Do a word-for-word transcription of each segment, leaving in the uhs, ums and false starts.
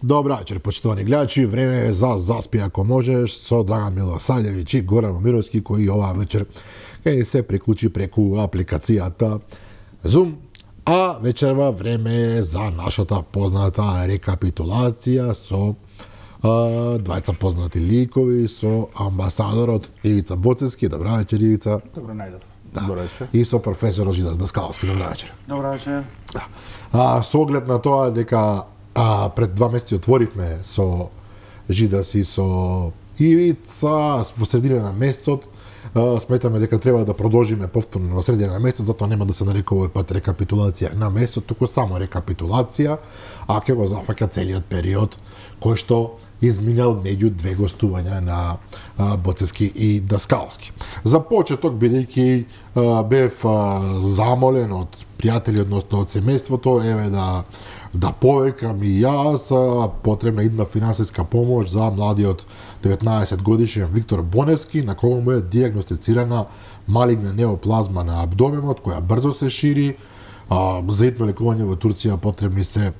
Добра вечер, почитувани гледачи. Време е за заспи ако можеш со Драган Милосављевиќ и Горан Момировски, кои оваа вечер ќе се приклучи преку апликацијата Zoom. А вечерва време е за нашата позната рекапитулација со а, двајца познати ликови, со амбасадорот Ивица Боцевски. Добра вечер, Ивица. Добро најдов. Да. Добра вечер. И со професор Жидас Даскаловски. Добра вечер. Добра вечер. Да. А, со оглед на тоа дека а, пред два месеци отворивме со Жидас и со Ивица во средина на месецот, а, сметаме дека треба да продолжиме повторно во средина на месецот, затоа нема да се нарекува овој пат рекапитулација на месецот, туку само рекапитулација, а ќе го зафаќа целиот период кој што изминал меѓу две гостувања на а, Боцевски и Даскаловски. За почеток, бидејќи бев а, замолен од пријатели, односно од семејството, еве да да повекам и јас, а, потребна идна финансиска помош за младиот деветнаесет годишен Виктор Боневски, на кого му е дијагностицирана малигна неоплазма на абдоменот, која брзо се шири. А, за итно лекување во Турција потребни се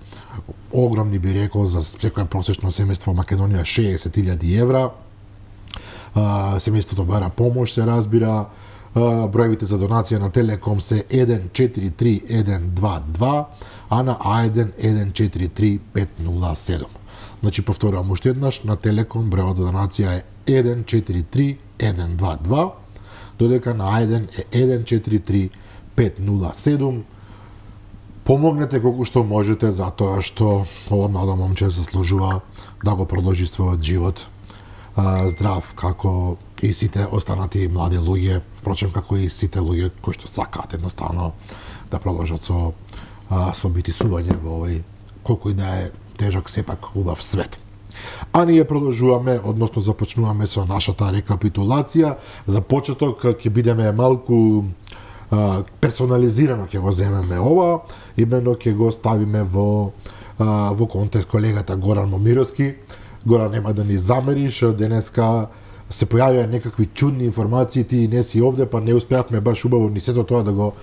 огромни, би рекол, за секоја просечно семејство во Македонија шеесет илјади евра. А, семејството бара помош, се разбира. А, броевите за донација на Телеком се еден четири три еден два два, а на А еден еден четири три пет нула седум. Значи, повторувам уште еднаш, на Телеком бројот за донација е еден четири три еден два два, додека на А еден е еден четири три пет нула седум. Помогнете колку што можете, затоа што ова младо момче заслужува да го продолжи својот живот а, здрав, како и сите останати млади луѓе, впрочем како и сите луѓе кои што сакаат едноставно да продолжат со а, со битисување во овој колку и да е тежок, сепак убав свет. А ние продолжуваме, односно започнуваме со нашата рекапитулација. За почеток ќе бидеме малку персонализирано ќе го земеме ова, именно ќе го ставиме во во контекст колегата Горан Момировски. Горан, нема да ни замериш, денеска се појавија некакви чудни информации, ти не си овде, па не успеавме баш убаво ни сето тоа да го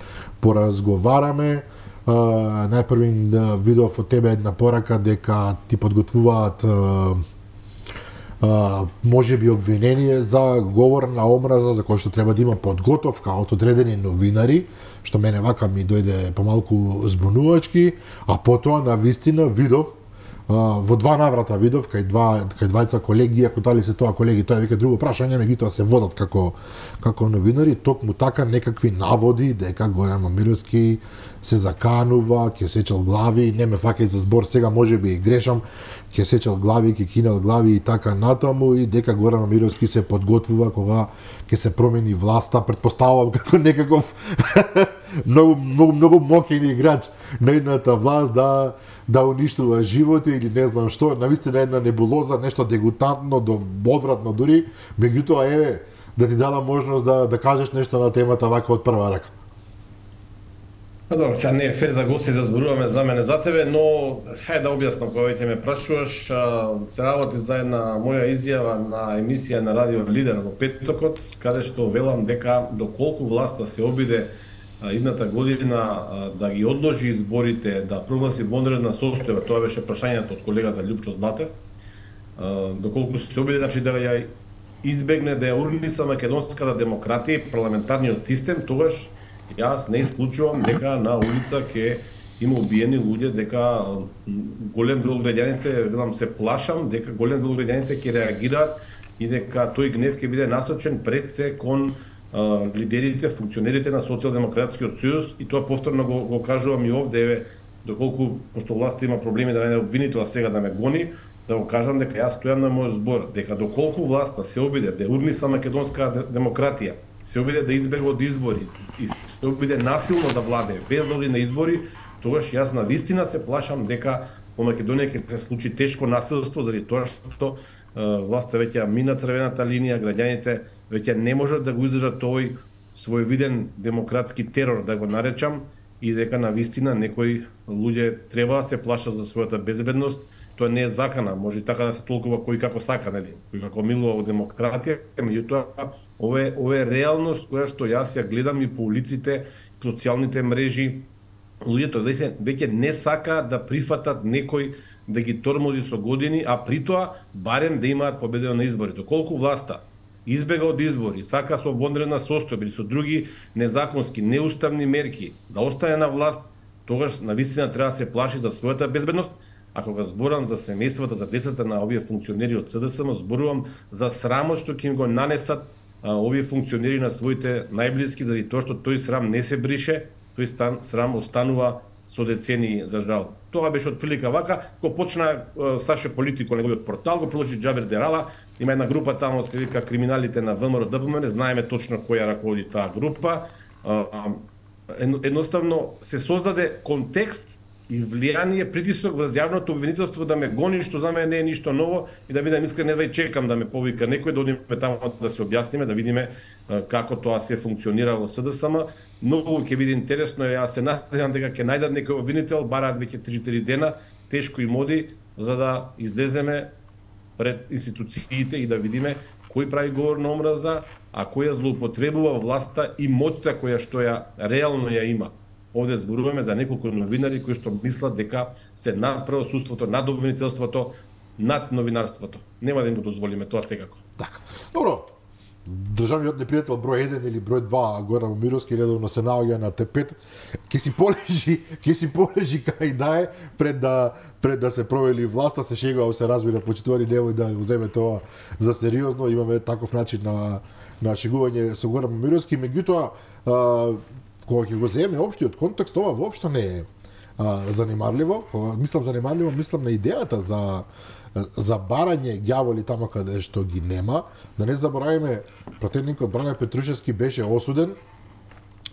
поразговараме. Најпрви видов од тебе една порака дека ти подготвуваат Uh, може би обвинение за говор на омраза, за кој што треба да има подготовка од одредени новинари, што мене вака ми дојде помалку збунувачки, а потоа на вистина видов, uh, во два наврата видов, кај два кај двајца колеги, ако дали се тоа колеги, тоа е веќе друго прашање, меѓутоа се водат како како новинари, токму така некакви наводи дека Горан Момировски се заканува, ќе сечел глави, не ме фаќај за збор, сега може би и грешам, ќе сечел глави, ќе кинел глави и така натаму, и дека Горан Момировски се подготвува кога ќе се промени власта, предпоставувам како некаков многу многу многу моќен играч на едната власт да да уништува животи или не знам што, навистина една небулоза, нешто дегутантно, до одвратно дури, меѓутоа еве да ти дадам можност да да кажеш нешто на темата вака од прва рака. Па добро, сега не е фер за гости да зборуваме за мене за тебе, но хајде да објаснам кога ќе ме прашуваш. Се работи за една моја изјава на емисија на Радио Лидер во петокот, каде што велам дека доколку власта се обиде идната година да ги одложи изборите, да прогласи вонредна состојба, тоа беше прашањето од колегата Љупчо Златев, доколку се обиде, значи да ја избегне да ја урниса македонската демократија и парламентарниот систем, тогаш јас не исклучувам дека на улица ќе има убиени луѓе, дека голем дел од граѓаните, велам се плашам, дека голем дел од граѓаните ќе реагираат и дека тој гнев ќе биде насочен пред се кон а, лидерите, функционерите на Социјалдемократскиот сојуз, и тоа повторно го, го кажувам и овде, еве, доколку пошто власта има проблеми да најде обвинител сега да ме гони, да го кажам дека јас стојам на мојот збор, дека доколку власта се обиде да урниса македонска демократија, се обиде да избега од избори и се обиде насилно да владее без да оди на избори, тогаш јас на вистина се плашам дека во Македонија ќе се случи тешко насилство заради тоа што е, власта веќе мина црвената линија, граѓаните веќе не можат да го издржат овој своевиден демократски терор, да го наречам, и дека на вистина некои луѓе треба да се плашат за својата безбедност. Тоа не е закана, може и така да се толкува кој како сака, нели, кој како милува во демократија, меѓутоа ова е, ова е реалност која што јас ја гледам и по улиците, социјалните мрежи, луѓето веќе веќе не сакаат да прифатат некој да ги тормози со години, а при тоа барем да имаат победа на изборите. Колку власта избега од избори, сака со вонредна состојба или со други незаконски, неуставни мерки да остане на власт, тогаш навистина треба да се плаши за својата безбедност. А кога зборам за семејствата, за децата на овие функционери од СДСМ, зборувам за срамот што ќе им го нанесат а, овие функционери на своите најблиски, заради тоа што тој срам не се брише, тој стан, срам останува со децении, за жал. Тоа беше од прилика вака, кога почна Саше Политико неговиот портал, го продолжи Џабер Дерала, има една група таму се вика криминалите на ВМРО Д П М Н, знаеме точно која раководи таа група. Едноставно се создаде контекст и влијание, притисок врз јавното обвинителство да ме гони, што за мене не е ништо ново, и да бидам искрен, едва и чекам да ме повика некој, да одиме таму да се објасниме, да видиме како тоа се функционира во СДСМ. Многу ќе биде интересно, јас се надевам дека ќе најдат некој обвинител, бараат веќе три-четири дена, тешко им оди, за да излеземе пред институциите и да видиме кој прави говор на омраза, а кој ја злоупотребува власта и моќта која што ја реално ја има. Овде зборуваме за неколку новинари кои што мислат дека се над правосудството, над обвинителството, над новинарството. Нема да им го дозволиме тоа секако. Така. Добро. Државниот непријател број еден или број два, Горан Момировски, редовно се наоѓа на тепет. Ќе си полежи, ќе си полежи кај да е пред да пред да се провели власта, се шегува, се разбира, почитувани, немој да го земе тоа за сериозно. Имаме таков начин на на шегување со Горан Момировски, меѓутоа кога ќе го земе општиот контекст, ова воопшто не е а, занимарливо. Кога мислам занимарливо, мислам на идејата за за барање ѓаволи таму каде што ги нема. Да не забораваме, пратеникот Бране Петрушевски беше осуден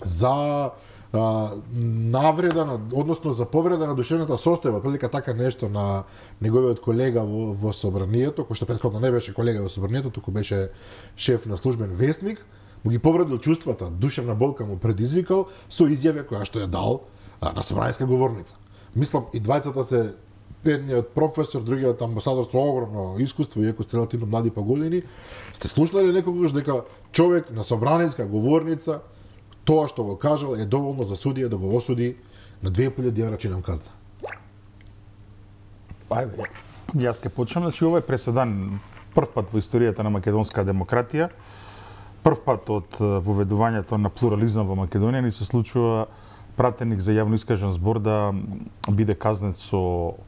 за а, навреда, на, односно за повреда на душевната состојба, прилика така нешто на неговиот колега во, во собранието, кој што претходно не беше колега во собранието, туку беше шеф на службен вестник, му ги повредил чувствата, душевна болка му предизвикал со изјава која што ја дал а, на собраниска говорница. Мислам, и двајцата се, едниот професор, другиот амбасадор со огромно искуство, иако сте релативно млади по години, сте слушнали некогаш дека човек на собраниска говорница тоа што го кажал е доволно за судија да го осуди на две илјади евра чинам казна. Ајде, јас ке почнам, значи ова е преседан прв пат во историјата на македонска демократија, прв пат од воведувањето на плурализам во Македонија ни се случува пратеник за јавно искажен збор да биде казнет со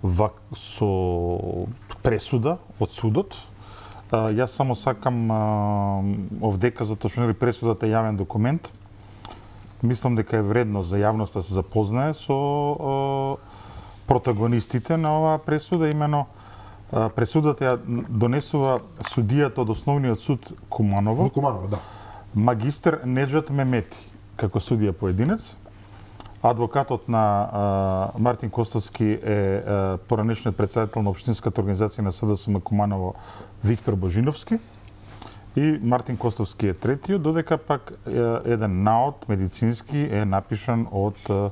вак, со пресуда од судот. А, јас само сакам а, овдека, затоа што нели пресудата е јавен документ. Мислам дека е вредно за јавноста да се запознае со а, протагонистите на оваа пресуда, имено а, пресудата ја донесува судијата од Основниот суд Куманово. Куманово, да. Магистер Неџат Мемети како судија поединец. Адвокатот на а, Мартин Костовски е а, поранешниот претседател на општинската организација на СДСМ Куманово Виктор Божиновски, и Мартин Костовски е третиот, додека пак е, еден наод медицински е напишан од е,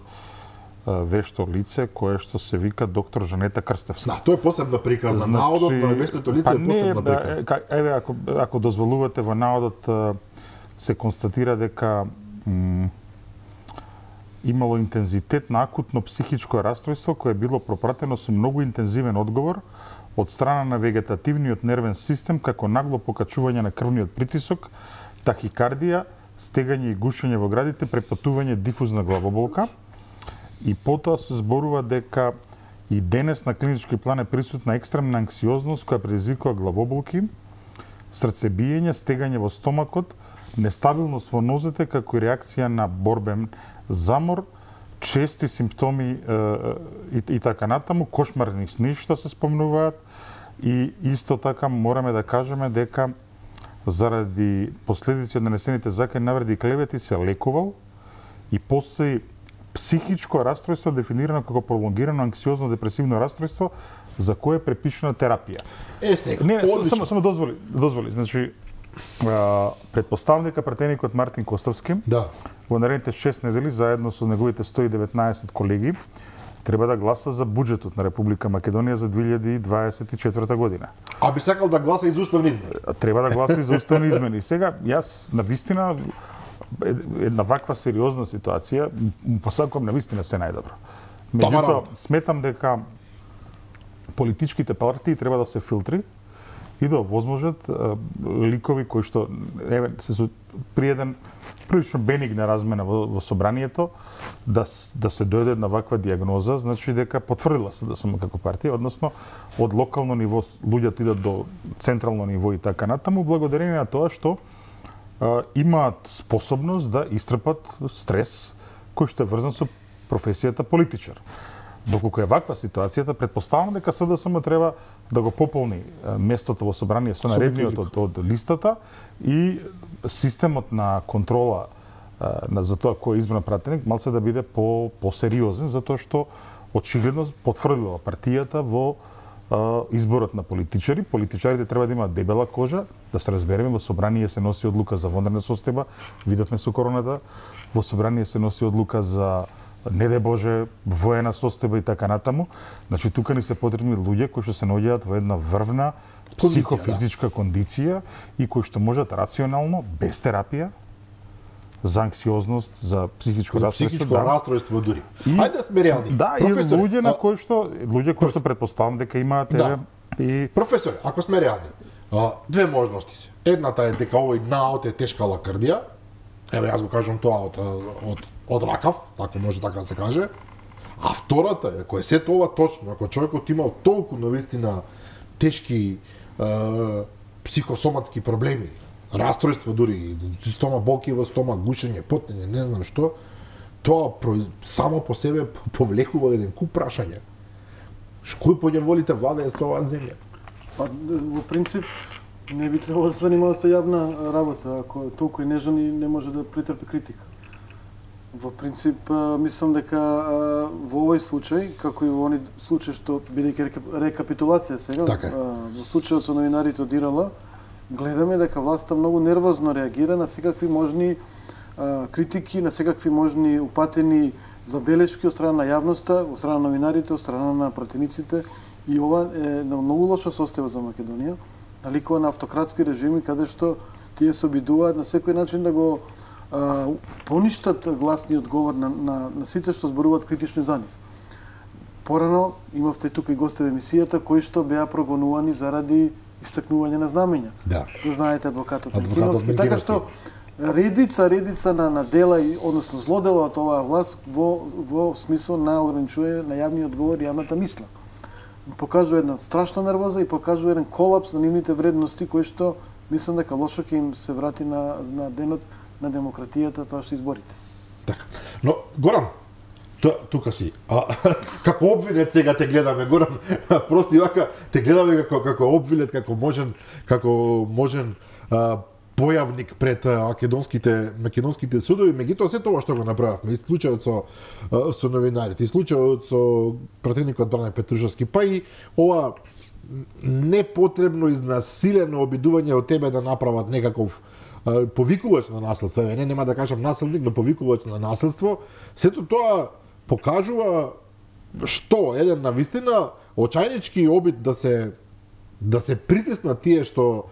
вешто лице кое што се вика доктор Жанета Крстевска. Да, тоа е посебна приказна. Значи, наодот на вештото лице па е посебна приказна. Па еве, ако, ако дозволувате, во наодот се констатира дека м, имало интензитет на акутно психичко расстройство кое било пропратено со многу интензивен одговор од страна на вегетативниот нервен систем, како нагло покачување на крвниот притисок, тахикардија, стегање и гушење во градите, препатување, дифузна главоболка. И потоа се зборува дека и денес на клинички план е присутна екстремна анксиозност која предизвикува главоболки, срцебиење, стегање во стомакот, нестабилност во нозете како и реакција на борбен замор, чести симптоми е, и, и така натаму, кошмарни сни што се спомнуваат, и исто така мораме да кажеме дека заради последици од нанесените закани навреди и клевети се лекувал и постои психичко расстройство дефинирано како пролонгирано анксиозно депресивно расстройство за кое е препишана терапија. Е, сега, не, не, само, само дозволи, дозволи, значи а, предпоставника пратеникот Мартин Костовски, да, во наредните шест недели заедно со неговите сто и деветнаесет колеги треба да гласа за буџетот на Република Македонија за две илјади дваесет и четврта година. А би сакал да гласа и за уставни измени. Треба да гласа и за уставни измени. Сега јас на вистина една ваква сериозна ситуација, посакувам на вистина се најдобро. Меѓутоа, сметам дека политичките партии треба да се филтри и да овозможат ликови кои што еве се при еден прилично бенигна размена во, во собранието да да се дојде на ваква диагноза, значи дека потврдила се да сум како партија, односно од локално ниво луѓето идат до централно ниво и така натаму, благодарение на тоа што а, имаат способност да истрпат стрес кој што е врзан со професијата политичар. Доколку е ваква ситуацијата, претпоставам дека СДСМ треба да го пополни местото во собрание со наредниот од, од листата и системот на контрола на за тоа кој е избран пратеник малце да биде по посериозен, затоа што очигледно потврдила партијата во а, изборот на политичари. Политичарите треба да имаат дебела кожа, да се разбереме, во собрание се носи одлука за вонредна состојба, видовме со короната, во собрание се носи одлука за не де Боже, воена состојба и така натаму. Значи, тука ни се потребни луѓе кои што се наоѓаат во една врвна психофизичка кондиција и кои што можат рационално, без терапија, за анксиозност, за психичко за расстройство. Психичко да. расстройство дури. И, Ајде да сме реални. Да, Професор, и луѓе на а... кои што луѓе кои што претпоставам дека имаат да. и Професор, ако сме реални, а, две можности се. Едната е дека овој наот е тешка лакардија. Еве јас го кажам тоа од од од ракав, ако може така да се каже. А втората е, ако е се тоа точно, ако човекот имал толку навистина тешки е, психосоматски проблеми, расстройства дури, стома болки во стома, гушење, потење, не знам што, тоа само по себе повлекува еден куп прашања. Кој поќе волите владее со оваа земја? Па, во принцип, не би требало да се занимава со јавна работа, ако толку е нежен и не може да претрпи критика. Во принцип, мислам дека во овој случај, како и во они случаи што бидејќи рекапитулација сега, така. во случајот со новинарите од Ирала, гледаме дека власта многу нервозно реагира на секакви можни а, критики, на секакви можни упатени забелешки од страна на јавноста, од страна на новинарите, од страна на пратениците, и ова е на многу лоша состојба за Македонија, наликува на автократски режими каде што тие се обидуваат на секој начин да го а, поништат гласниот говор на, на, на сите што зборуваат критично за нив. Порано имавте тука и гости во емисијата кои што беа прогонувани заради истакнување на знамења. Да. Го знаете адвокатот Адвокатот Менгиновски, така што редица редица на, на дела и односно злодела од оваа власт во во смисол на ограничување на јавниот говор и јавната мисла. Покажува една страшна нервоза и покажува еден колапс на нивните вредности кои што мислам дека лошо ќе им се врати на на денот на демократијата, тоа што изборите. Така. Но Горан, Т, тука си. А, како обвинет сега те гледаме, Горан. Просто и вака те гледаме како како обвинет, како можен, како можен а, појавник пред македонските македонските судови, меѓутоа се тоа што го направивме, и случајот со со новинарите, и случајот со пратеникот Бране Петрушевски, па и ова непотребно изнасилено обидување од тебе да направат некаков повикувач на наследство, не нема да кажам наследник, но повикувач на наследство, сето тоа покажува што еден навистина очајнички обид да се да се притиснат тие што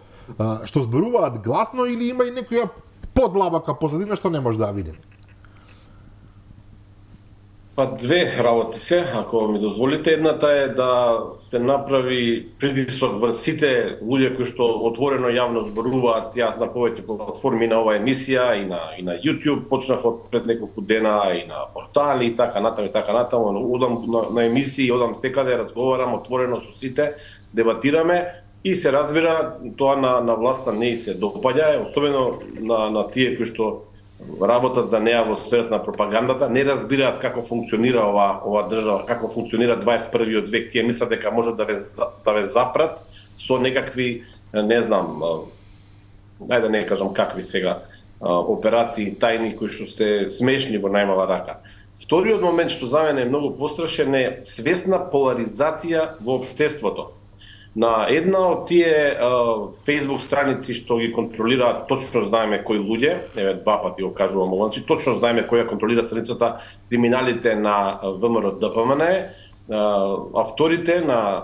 што зборуваат гласно или има и некоја подлабока позадина што не може да ја видим. Па две работи се, ако ми дозволите. Едната е да се направи притисок врз сите луѓе кои што отворено јавно зборуваат. Јас на повеќе платформи на оваа емисија и на и на YouTube почнав од пред неколку дена и на портали и така натаму и така натаму. Одам на, на емисии, одам секаде, разговарам отворено со сите, дебатираме и се разбира тоа на на власта не и се допаѓа, особено на на тие кои што работат за неа во сферата на пропагандата, не разбираат како функционира ова ова држава, како функционира дваесет и првиот век. Тие мислат дека може да ве да ве запрат со некакви, не знам, ајде да не кажам какви сега операции тајни кои што се смешни во најмала рака. Вториот момент што за мене е многу пострашен е свесна поларизација во општеството. На една од тие uh, Facebook страници што ги контролираат, точно знаеме кои луѓе, еве два пати го кажувам ова, значи точно знаеме која контролира страницата, криминалите на ВМРО Д П М Н, uh, авторите на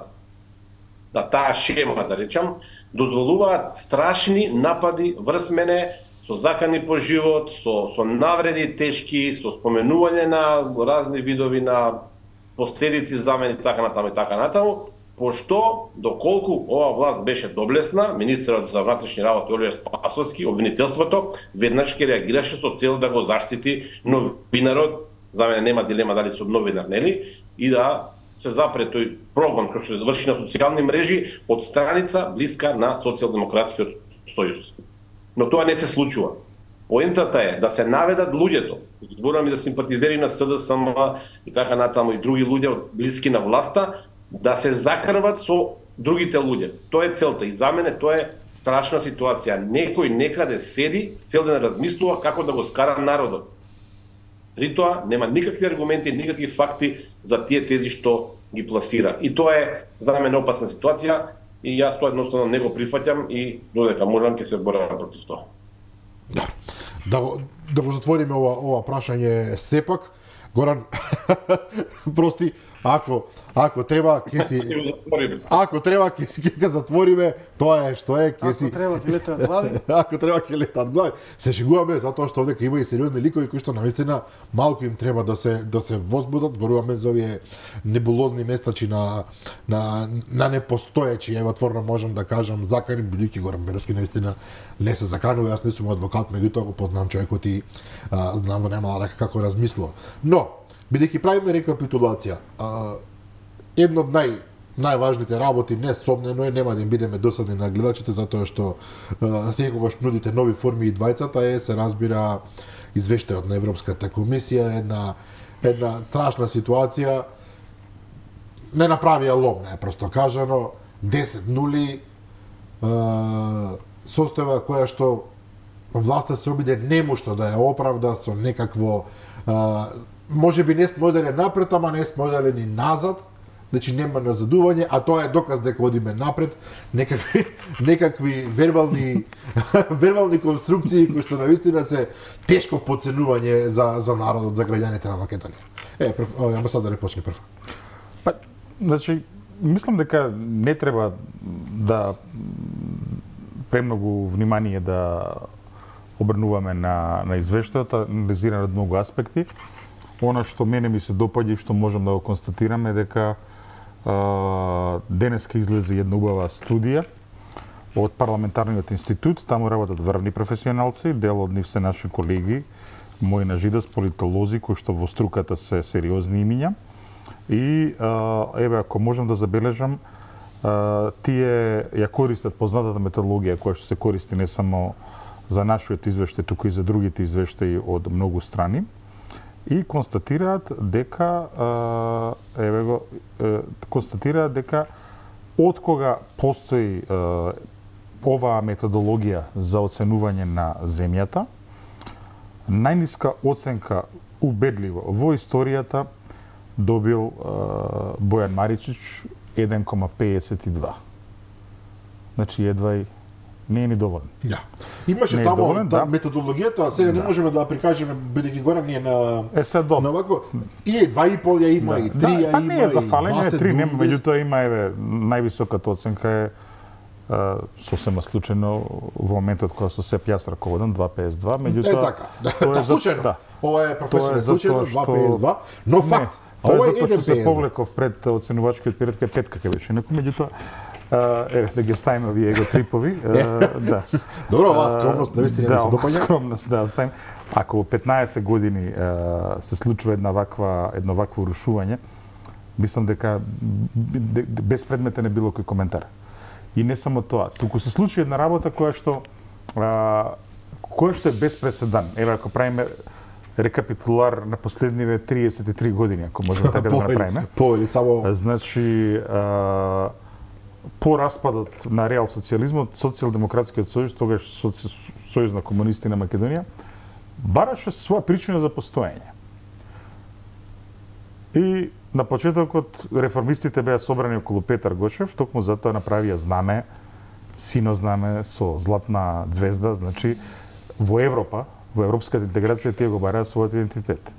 на таа шема, да речам, дозволуваат страшни напади врз мене со закани по живот, со, со навреди тешки, со споменување на разни видови на последици замени, така натаму и така натаму, пошто, доколку ова власт беше доблесна, министерот за внатрешни работи Оливер Спасовски, обвинителството, веднаш ќе реагираше со цел да го заштити новинарот, за мене нема дилема дали со новинар, нели, и да се запре тој прогон кој што се заврши на социјални мрежи од страница блиска на Социјалдемократскиот сојуз. Но тоа не се случува. Поентата е да се наведат луѓето, зборувам и за симпатизери на СДСМ и така натаму и други луѓе блиски на власта, да се закрват со другите луѓе. Тоа е целта и за мене тоа е страшна ситуација. Некој некаде седи, цел ден размислува како да го скара народот. При тоа нема никакви аргументи, никакви факти за тие тези што ги пласира. И тоа е за мене опасна ситуација и јас тоа едноставно не го прифаќам и додека можам ќе се борам против тоа. Да, да, го, да го затвориме ова, ова прашање сепак. Горан, прости, ако ако треба ќе си ако треба ќе си ќе затвориме, тоа е што е, ќе си Ако треба ќе летат глави. Ако треба ќе летат глави. Се шегуваме затоа што овде има и сериозни ликови кои што навистина малку им треба да се да се возбудат, зборуваме за овие небулозни местачи на на на непостоечи, ево отворно можам да кажам, закани, бидејќи Горан Беровски навистина не се заканува, јас не сум адвокат, меѓутоа го познавам човекот и а, знам во немала рака како размислува. Но бидејќи правиме рекапитулација, а, едно од нај најважните работи несомнено е, нема да им бидеме досадни на гледачите затоа што а, секогаш нудите нови форми и двајцата е се разбира извештајот на Европската комисија, една една страшна ситуација, не направија лом, најпросто кажано, десет нули, а, состојба која што власта се обиде немошто да ја оправда со некакво а, може би не сме одели напред, ама не сме одели ни назад, значи нема назадување, а тоа е доказ дека одиме напред, некакви некакви вербални вербални конструкции кои што навистина се тешко подценување за за народот, за граѓаните на Македонија. Е, прв, амбасадор почне прв. Па, значи, мислам дека не треба да премногу внимание да обрнуваме на на извештајот, анализиран од многу аспекти. Она што мене ми се допаѓа и што можам да го констатирам е дека а, денеска излезе една убава студија од парламентарниот институт, таму работат врвни професионалци, дел од нив се наши колеги, мои на Жидас, политолози кои што во струката се сериозни имиња. И а, еве ако можам да забележам, а, тие ја користат познатата методологија која што се користи не само за нашиот извештај, туку и за другите извештаи од многу страни. И констатираат дека еве го констатираат дека откога постои оваа методологија за оценување на земјата, најниска оценка убедливо во историјата добил Бојан Маричич еден кома педесет и два. Значи едва и не е ни доволен. Да. Имаше Не е таму доволен, да, да. методологијата, сега не Да. можеме да прикажеме бидејќи горе ние на Е се добро. на вако и два и пол ја има, и три ја па има, не е за и фалење, дваесет три нема, думи. меѓутоа има еве највисоката оценка е а, сосема случајно во моментот кога со Сеп јас раководам два педесет и два, меѓутоа Е така. Да, тоа е тоа за- случајно. да. Ова е професионално Тоа е случајно затоа два што- педесет и два, но Не, факт. тоа Ова е е затоа еден што се педесет и два. повлеков пред оценувачкиот период кај петка ќе беше некој, меѓутоа а, еве да ги оставиме овие его трипови, а, да. Добро, оваа скромност наистина ми да, се оваа допаѓа. скромност, да, оставим. Ако во петнаесет години а, се случува една ваква едно вакво рушување, мислам дека б- б- безпредметен е било кој коментар. И не само тоа, туку се случи една работа која што а, која што е без преседан. Еве ако правиме рекапитулар на последниве триесет и три години, ако можеме така да го направиме. По или само Значи, а, по распадот на реал социјализмот, Социјалдемократскиот сојуз, тогаш Соци... Сојуз на комунисти на Македонија, бараше своја причина за постоење. И на почетокот реформистите беа собрани околу Петар Гочев, токму затоа направија знаме, сино знаме со златна звезда, значи во Европа, во европската интеграција тие го бараат својот идентитет.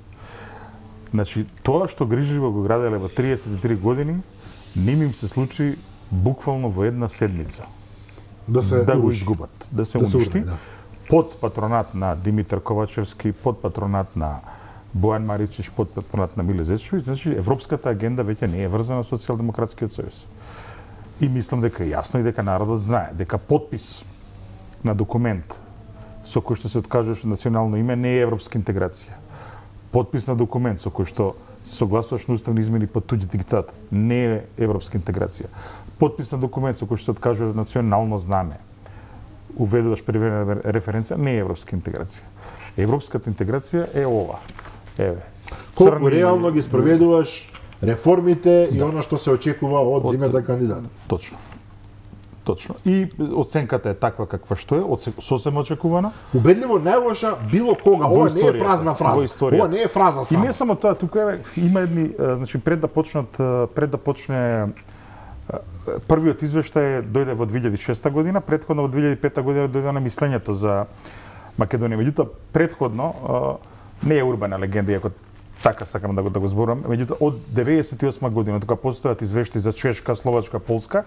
Значи, тоа што грижливо го граделе во триесет и три години, ним им се случи буквално во една седмица да се да го уруши. изгубат, да се Да се уништи. урне, да. под патронат на Димитар Ковачевски, под патронат на Бојан Маричич, под патронат на Миле Зечевиќ, значи европската агенда веќе не е врзана со Социјалдемократскиот сојуз. И мислам дека е јасно и дека народот знае дека подпис на документ со кој што се откажуваш национално име не е европска интеграција. Подпис на документ со кој што се согласуваш на уставни измени под туѓ диктат не е европска интеграција. Подпис на документ со кој што се откажуваш национално знаме, уведуваш привремена референција, не е европска интеграција. Европската интеграција е ова. Еве. Колку реално ги спроведуваш реформите и она што се очекува од земјата кандидат. Точно. Точно. И оценката е таква каква што е, сосем очекувана. Убедливо најлоша било кога. Ова не е празна фраза. Ова не е фраза само. И не само тоа, тука е, има едни, значи пред да почнат, пред да почне првиот извештај дојде во две илјади и шеста година, претходно во две илјади и пета година дојде на мислењето за Македонија. Меѓутоа, претходно не е урбана легенда, иако така сакам да го да го зборам, меѓутоа од деветдесет и осма година, кога постојат извештаи за Чешка, Словачка, Полска,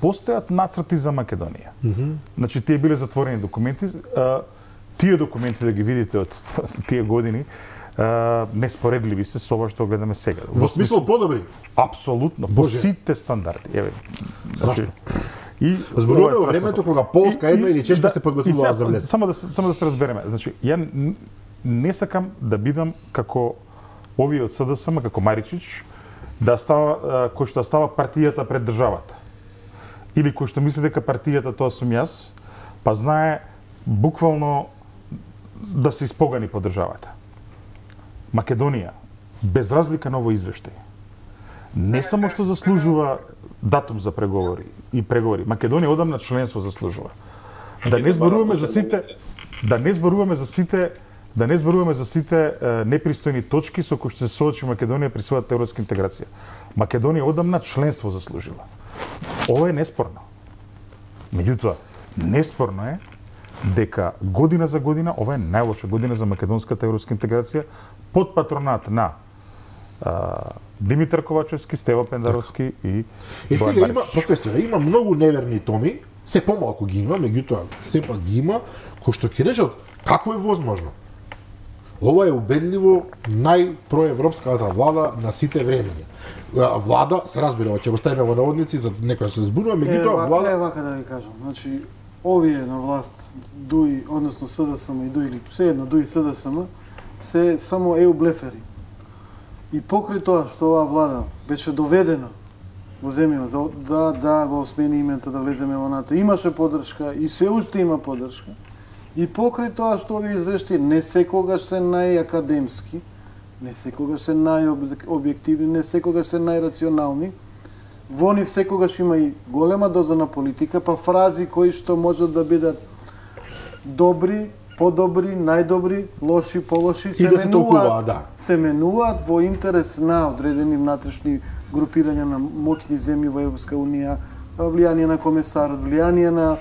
постојат нацрти за Македонија. Mm -hmm. Значи тие биле затворени документи, а, тие документи да ги видите од, од тие години, а, неспоредливи се со ова што гледаме сега. Во смисол подобри? Апсолутно, по сите стандарди. Еве. Значи, и зборуваме во времето кога Полска една или Чешка да, се подготвуваа за влез. Само да само да се разбереме. Значи, ја не сакам да бидам како овие од СДСМ, како Маричич, да става кој што става партијата пред државата. Или кој што мисли дека партијата тоа сум јас, па знае буквално да се испогани по државата. Македонија, без разлика на овој извештај, не само што заслужува датум за преговори и преговори, Македонија одамна членство заслужува. Да не зборуваме за сите, да не зборуваме за сите Да не зборуваме за сите е, непристојни точки со кои што се соочи Македонија при својата европска интеграција. Македонија одамна членство заслужила. Ова е неспорно. Меѓутоа, неспорно е дека година за година, ова е најлоша година за македонската европска интеграција, под патронат на а, Димитар Ковачевски, Стево Пендаровски и Е, сега има, професоре, има многу неверни томи, се помалку ги има, меѓутоа, сепак ги има, кои што ќе речат како е возможно. Ова е убедливо најпроевропската влада на сите времења. Влада, се разбира, ќе го ставиме во наводници за некој се збунува, меѓутоа влада е вака да ви кажам. Значи, овие на власт, ДУИ, односно СДСМ и ДУИ, или се едно ДУИ и СДСМ, се само еу блефери. И покрај тоа што оваа влада беше доведена во земјава да да го смени името, да влеземе во НАТО, имаше поддршка и се уште има поддршка. И покрај тоа што овие извештаи не секогаш се најакадемски, не секогаш се најобјективни, не секогаш се најрационални, во нив секогаш има и голема доза на политика, па фрази кои што можат да бидат добри, подобри, најдобри, лоши, полоши, се, да се менуваат, толкува, да. се менуваат во интерес на одредени внатрешни групирања на моќни земји во Европска унија, влијание на комесарот, влијание на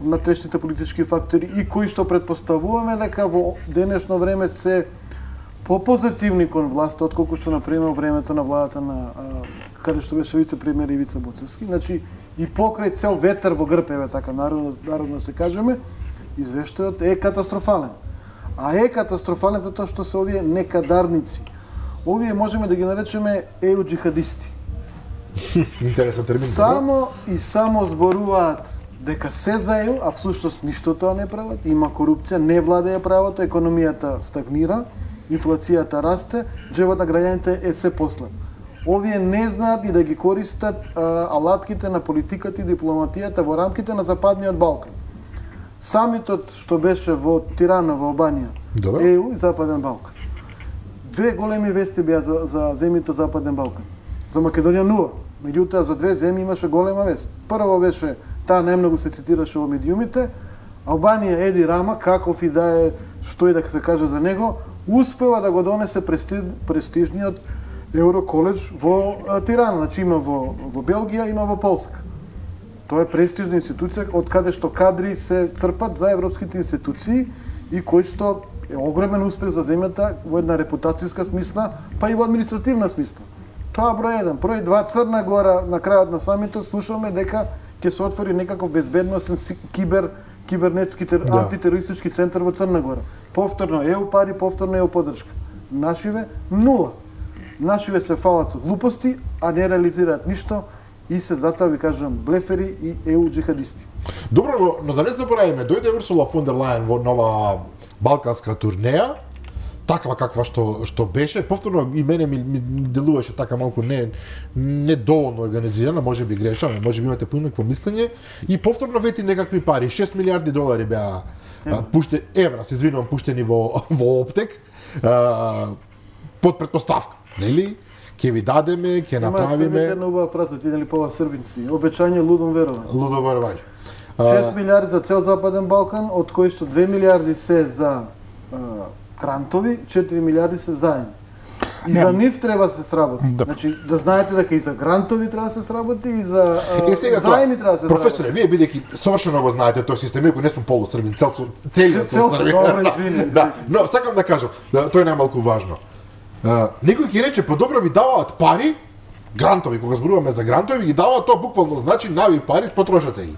внатрешните политички фактори и кои што предпоставуваме дека во денешно време се попозитивни кон власта отколку што например во времето на владата на а, каде што беше вице-премиер Ивица Буцевски. Значи и покрај цел ветер во грб, еве така народно, народно се кажеме, извештајот е катастрофален. А е катастрофален тоа што се овие некадарници. Овие можеме да ги наречеме еу джихадисти. Интересен термин. Само и само зборуваат дека се за еу, а всушност ништо тоа не прават. Има корупција, не владеја правото, економијата стагнира, инфлацијата расте, џебот на граѓаните е се послаб. Овие не знаат и да ги користат а, алатките на политиката и дипломатијата во рамките на Западниот Балкан. Самитот што беше во Тирана, во Албанија, Добре. еу и Западен Балкан. Две големи вести беа за, за земјите Западен Балкан. За Македонија нула. Меѓутоа за две земји имаше голема вест. Прво беше, таа најмногу се цитираше во медиумите, Албанија Еди Рама, каков и да е, што и да се каже за него, успева да го донесе престиж, престижниот Евроколедж во а, Тирана. Значи има во, во Белгија, има во Полска. Тоа е престижна институција од каде што кадри се црпат за европските институции и кој што е огромен успех за земјата во една репутацијска смисла, па и во административна смисла. Тоа број еден. Број два, Црна Гора на крајот на самитот слушаме дека ќе се отвори некаков безбедносен кибер кибернетски тер... Да. антитерористички центар во Црна Гора. Повторно е у пари, повторно е у поддршка. Нашиве нула. Нашиве се фалат со глупости, а не реализираат ништо и се затоа ви кажам блефери и е у джихадисти. Добро, но, но да не забораваме, дојде Урсула фон дер Лајен во нова балканска турнеја, таква каква што што беше, повторно и мене ми, ми делуваше така малку не не доволно организирана, можеби грешам, можеби имате поинакво мислење и повторно вети некакви пари, шест милиарди долари беа пуште евра, се извинувам, пуштени во во оптек, а, под претпоставка, нели? Ќе ви дадеме, ќе направиме. Има една убава фраза, видели по ова србинци. Обеќање лудом верување. Лудом верување. шест милиарди за цел Западен Балкан, од кои што две милиарди се за а, грантови, четири милиарди се заеми. И не, за нив треба да се сработи. Да. Значи, да знаете дека и за грантови треба да се сработи, и за а, е, сега, заеми треба да се професоре, сработи. вие бидејќи совршено го знаете тој систем, иако не сум полусрбин, цел целиот Цел, србин. добро, извини, Да, но сакам да кажам, да, тоа е најмалку важно. Uh, некој ќе рече, подобро ви даваат пари, грантови, кога зборуваме за грантови, ги даваат, тоа буквално значи нави пари, потрошете ги.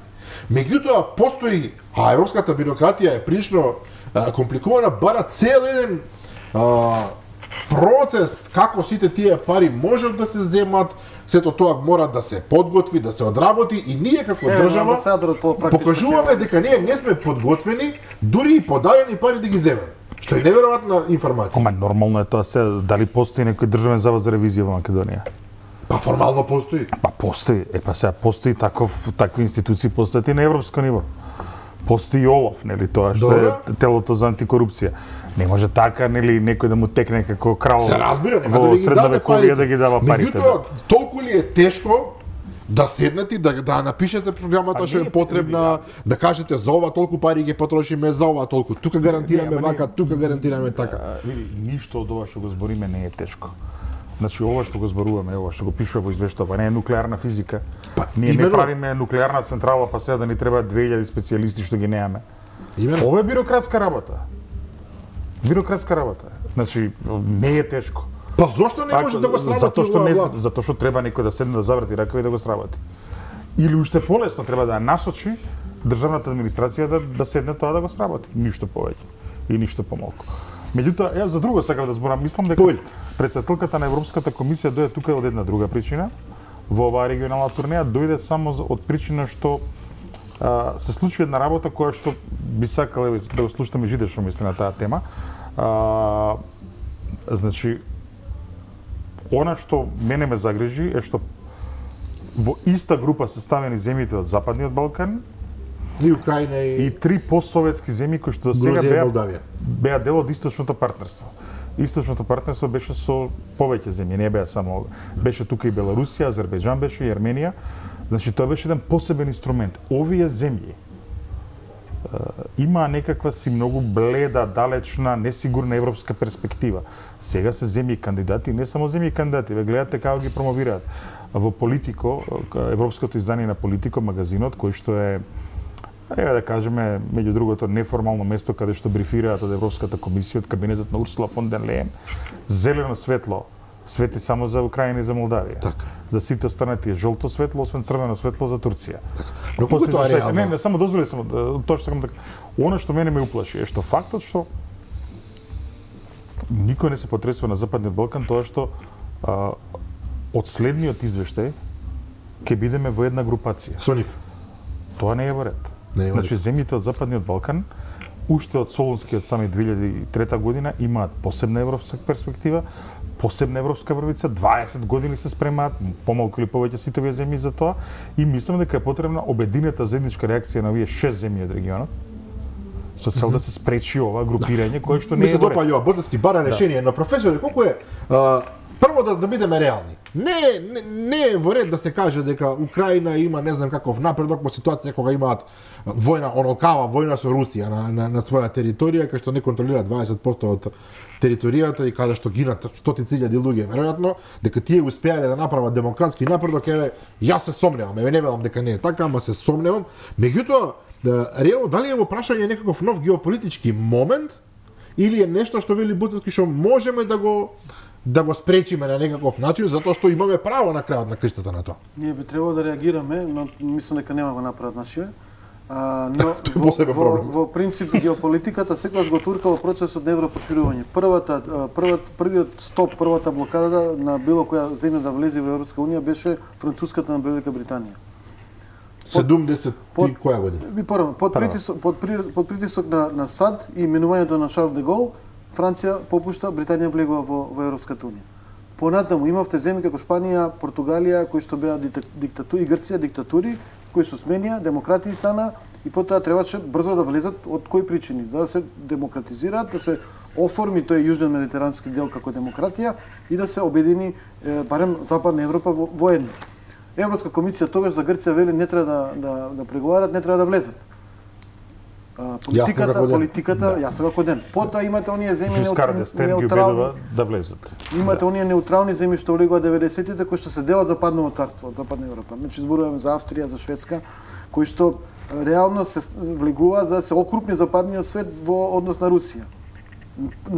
Меѓутоа, постои, а европската бирократија е прилично uh, компликувана, бара цел еден uh, процес како сите тие пари можат да се земат, сето тоа мора да се подготви, да се одработи и ние како Е, држава покажуваме дека ние не сме подготвени, дури и подадени пари да ги земеме. Што е неверојатна информација. Ама нормално е тоа се, дали постои некој државен завод за ревизија во Македонија? Па формално постои. Па постои, е па сега постои таков такви институции постојат и на европско ниво. Постои ОЛАФ, нели тоа што Добро. е телото за антикорупција. Не може така, нели, некој да му текне како крал. Се разбира, нема да во ви ги даде средновековие парите. да ги дава парите. Меѓутоа, толку ли е тешко да седнете да да напишете програмата А што е не, потребна, да кажете за ова толку пари ќе потрошиме, за ова толку тука гарантираме Не, ама вака, не- тука гарантираме така. А, види, ништо од ова што го збориме не е тешко. Значи ова што го зборуваме, ова што го пишува во извештава, не е нуклеарна физика. Па, Ние именно- не правиме нуклеарна централа, па сега да ни треба две илјади специјалисти што ги немаме. Именно. Ова е бирократска работа. Бирократска работа. Значи не е тешко. Па зошто не може да го сработи затоа што оваа не власт? затоа што треба некој да седне да заврти ракави и да го сработи. Или уште полесно треба да ја насочи државната администрација да да седне тоа да го сработи, ништо повеќе и ништо помалку. Меѓутоа, ја за друго сакам да зборам, мислам дека Повели. председателката на Европската комисија дојде тука од една друга причина. Во оваа регионална турнеја дојде само за- од причина што а, се случи една работа која што би сакал еве, да го слушаме жите што мисли на таа тема. А, значи, она што мене ме загрижи е што во иста група се ставени земјите од Западниот Балкан И Украина и, и три постсоветски земји кои што до сега Грузија и беа, Молдавија. беа дел од источното партнерство. Источното партнерство беше со повеќе земји, не беа само беше тука и Беларусија, Азербејџан беше и Арменија. Значи тоа беше еден посебен инструмент. Овие земји е, има некаква си многу бледа, далечна, несигурна европска перспектива. Сега се земји кандидати, не само земји кандидати, ве гледате како ги промовираат. Во Политико, европското издание на Политико, магазинот, кој што е, еве да кажеме, меѓу другото, неформално место каде што брифираат од Европската комисија, од кабинетот на Урсула фон дер Лејен, зелено светло свети само за Украина и за Молдавија. Така. За сите останати е жолто светло, освен црвено светло за Турција. Но колку После тоа за Швеца- реално? Не, не, само дозволи само да- тоа што сакам да кажам. Она што мене ме уплаши е што фактот што никој не се потресува на Западниот Балкан тоа што а, од следниот извештај ќе бидеме во една групација. Со нив. Тоа не е во ред. Не е во Значи земјите од Западниот Балкан уште од Солунскиот самит две илјади и трета година имаат посебна европска перспектива, посебна европска врвица, дваесет години се спремаат, помалку или повеќе сите овие земји за тоа и мислам дека е потребна обединета заедничка реакција на овие шест земји од регионот со цел да се спречи ова групирање кое што Ми не се е во ред. допаѓа ова Ботевски бара решение, но професоре, колку е а, прво да, да бидеме реални. Не, не, не е во ред да се каже дека Украина има не знам каков напредок во ситуација кога имаат војна, онолкава војна со Русија на, на, на своја територија, кај што не контролира дваесет проценти од територијата и каде што гинат стотици илјади луѓе, веројатно, дека тие успеале да направат демократски напредок, еве, јас се сомневам, еве не велам дека не е така, ама се сомневам. Меѓутоа, да, реално, дали е во прашање некаков нов геополитички момент, или е нешто што вели Буцевски што можеме да го да го спречиме на некаков начин, затоа што имаме право на крајот на криштата на тоа. Ние би требало да реагираме, но мислам дека нема го направат нашиве, А, но во, по себе во, проблем. во принцип геополитиката секогаш го турка во процесот на европроширување. Првата првата првиот стоп, првата блокада на било која земја да влезе во Европска унија беше француската на Велика Британија. седумдесет под- и која година? Би порано, под притисок под, при- под притисок на на САД и именувањето на Шарл де Гол, Франција попушта, Британија влегува во во Европската унија. Понатаму имавте земји како Шпанија, Португалија, кои што беа диктатури, и Грција диктатури, кои се сменија, демократии стана и потоа требаше брзо да влезат од кои причини, за да се демократизираат, да се оформи тој јужен медитерански дел како демократија и да се обедини е, барем Западна Европа во, во едно. Европска комисија тогаш за Грција вели не треба да да да преговарат, не треба да влезат. А, политиката, како ден. политиката, да. Јасно како ден. Потоа имате оние земји Жискар д'Естен ги убедува да влезат. Имате оние неутрални земји што влегува деветдесетите кои што се дел од Западното царство, од Западна Европа. Значи зборуваме за Австрија, за Шведска, кои што реално се влегува за да се окрупни западниот свет во однос на Русија.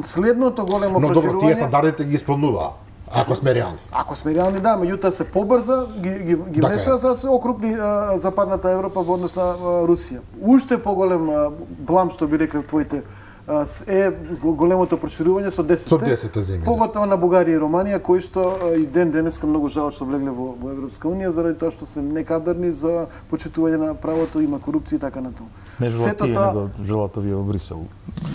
Следното големо Но добро, тие проширување, стандардите ги исполнува, ако сме реални. ако сме реални, да, меѓутоа се побрза, ги, ги, ги Така внесува е. за да се окрупни а, Западната Европа во однос на а, Русија. Уште поголем а, блам, што би рекле твоите, а, с- е големото проширување со десет. Со десет земји, да. Поготово на Бугарија и Романија, кои што а, и ден денеска многу жалат што влегле во, во Европска унија, заради тоа што се некадарни за почитување на правото, има корупција и така натаму. Не желат Сето тие, тоа- него желат овие во Брисел.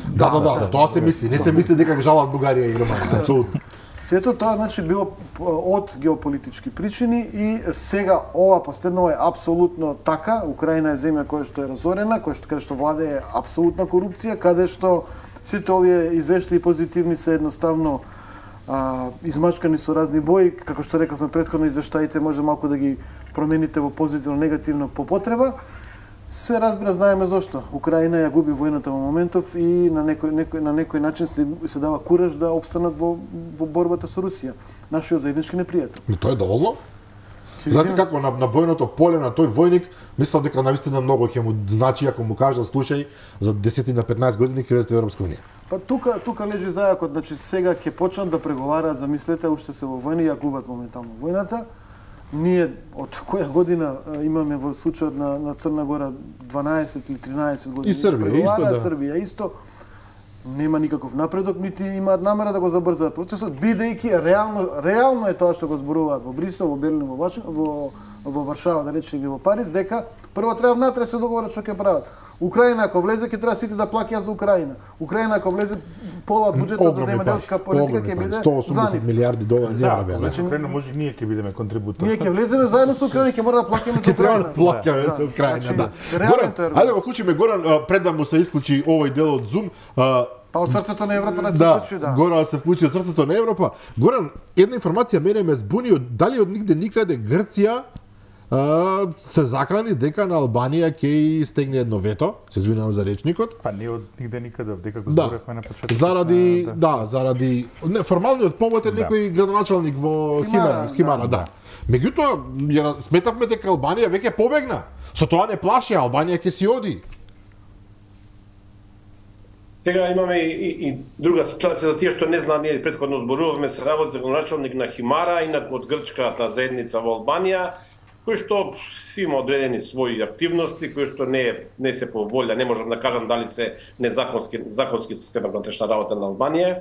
Да, да, да, за тоа се мисли. Не се мисли дека жалат Бугарија и Романија, апсолутно. Сето тоа значи било од геополитички причини и сега ова последново е апсолутно така. Украина е земја која што е разорена, која што каде што владее апсолутна корупција, каде што сите овие извештаи позитивни се едноставно а, измачкани со разни бои, како што рековме претходно, извештаите може малку да ги промените во позитивно негативно по потреба. Се разбира, знаеме зошто. Украина ја губи војната во моментов и на некој, некој, на некој начин се, се дава кураж да опстанат во, во борбата со Русија. Нашиот заеднички непријател. Но тоа е доволно. Знаете како на, на бојното поле на тој војник, мислам дека навистина многу ќе му значи ако му кажа слушај за десет на петнаесет години ќе влезете во Европска унија. Па тука тука лежи зајакот, значи сега ќе почнат да преговараат, замислете, уште се во војна и ја губат моментално војната. Ние од која година а, имаме во случајот на, на Црна Гора дванаесет или тринаесет години. И Србија преговараат, исто, да. Србија исто. Нема никаков напредок, нити имаат намера да го забрзаат процесот, бидејќи реално реално е тоа што го зборуваат во Брисел, во Берлин, во Вашингтон, во во Варшава, да речеме или во Париз, дека прво треба внатре да се договорат што ќе прават. Украина ако влезе ќе треба сите да плаќаат за Украина. Украина ако влезе пола од буџетот за земјоделска политика ќе биде сто за осумдесет нив. милиарди долари Да, евра беа. значи Украина може и ние ќе бидеме контрибутор. Ние ќе влеземе заедно со Украина, ќе мора да плаќаме за Ќе треба Украина. да плаќаме Да. за Украина, Значи, да. реален Горан, тој аргумент. ајде да го вклучиме Горан а, пред да му се исклучи овој дел од Zoom. а, Па од срцето на Европа да се Да, вклучи, да. Горан се вклучи од срцето на Европа. Горан, една информација мене ме збуни од дали од нигде никаде Грција а, се закани дека на Албанија ќе и стегне едно вето, се извинувам за речникот. Па не од нигде никаде, дека го Да. зборевме на почетокот. Заради, на- да, заради не, формалниот повод е Да. некој градоначалник во Химара, Химара, Химара, да. да. Меѓутоа, ја сметавме дека Албанија веќе побегна. Со тоа не плаши, Албанија ќе си оди. Сега имаме и, и, и друга ситуација за тие што не знаат, ние претходно зборувавме се работи за градоначалник на Химара, инак од грчката заедница во Албанија, кој што има одредени своји активности, кои што не не се по волја, не можам да кажам дали се незаконски законски система внатрешна работа на Албанија.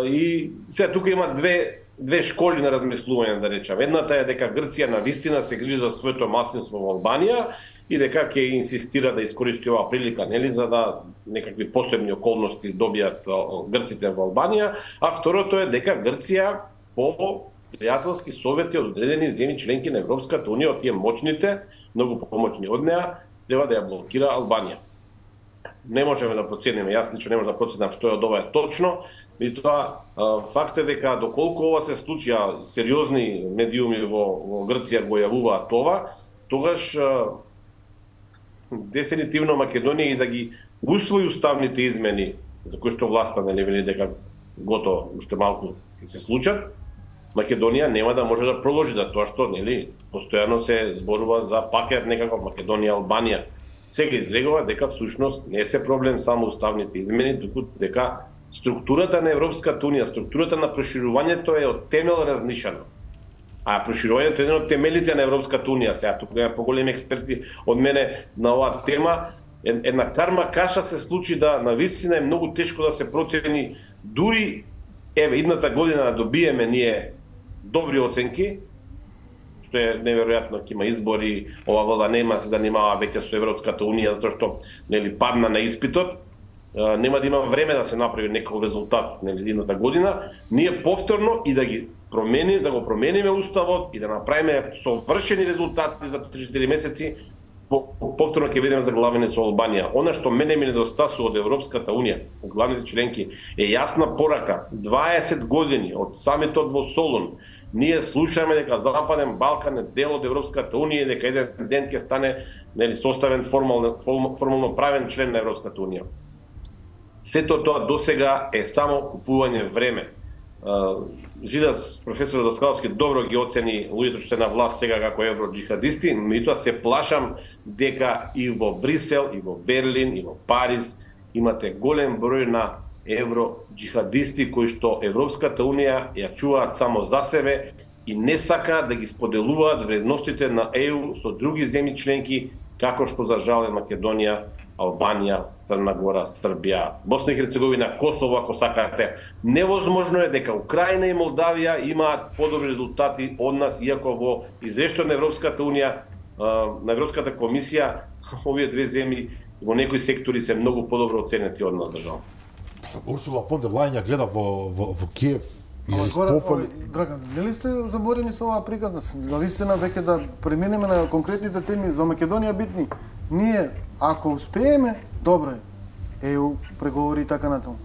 И сега тука има две две школи на размислување, да речам. Едната е дека Грција на вистина се грижи за своето маслинство во Албанија и дека ќе инсистира да искористи оваа прилика, нели, за да некакви посебни околности добијат грците во Албанија, а второто е дека Грција по пријателски совети од одредени земји членки на Европската унија, од тие моćните, многу помоćни од неа, треба да ја блокира Албанија. Не можеме да процениме, јас лично не можам да проценам што е од ова е точно, меѓутоа факт е дека доколку ова се случи, а сериозни медиуми во, во Грција го јавуваат това, тогаш дефинитивно Македонија и да ги усвои уставните измени за кои што власта нели вели дека готово уште малку ќе се случат, Македонија нема да може да проложи за тоа што нели постојано се зборува за пакет некако Македонија Албанија. Сега излегува дека всушност не се проблем само уставните измени, туку дека структурата на Европската унија, структурата на проширувањето е од темел разнишана. А проширувањето е еден од темелите на Европската унија. Сега тука има поголеми експерти од мене на оваа тема. Една карма каша се случи да навистина е многу тешко да се процени дури еве идната година да добиеме ние добри оценки, што е неверојатно, ќе има избори, ова влада нема се занимава веќе со Европската унија затоа што нели падна на испитот. Нема да има време да се направи некој резултат нели идната година. Ние повторно и да ги промени, да го промениме уставот и да направиме совршени резултати за три-четири месеци, повторно ќе бидеме заглавени со Албанија. Она што мене ми недостасува од Европската унија, од главните членки, е јасна порака. дваесет години од самитот во Солун ние слушаме дека Западен Балкан е дел од Европската унија и дека еден ден ќе стане нели составен формално формално правен член на Европската унија. Сето тоа досега е само купување време. Жидас, професор Даскаловски, добро ги оцени луѓето што се на власт сега како евроджихадисти, меѓутоа се плашам дека и во Брисел, и во Берлин, и во Париз имате голем број на евроджихадисти кои што Европската унија ја чуваат само за себе и не сака да ги споделуваат вредностите на Е У со други земји членки, како што за жал е Македонија, Албанија, Црна Гора, Србија, Босна и Херцеговина, Косово, ако сакате. Невозможно е дека Украина и Молдавија имаат подобри резултати од нас, иако во извештај на Европската унија, на Европската комисија, овие две земји во некои сектори се многу подобро оценети од нас, за жал. Урсула фон дер Лајен ја гледа во, во, во Киев и ја испофали. Драган, нели сте заборени со оваа приказна? Навистина веќе да преминеме на конкретните теми за Македонија битни. Ние, ако успееме, добро е. Е У, преговори и така натаму.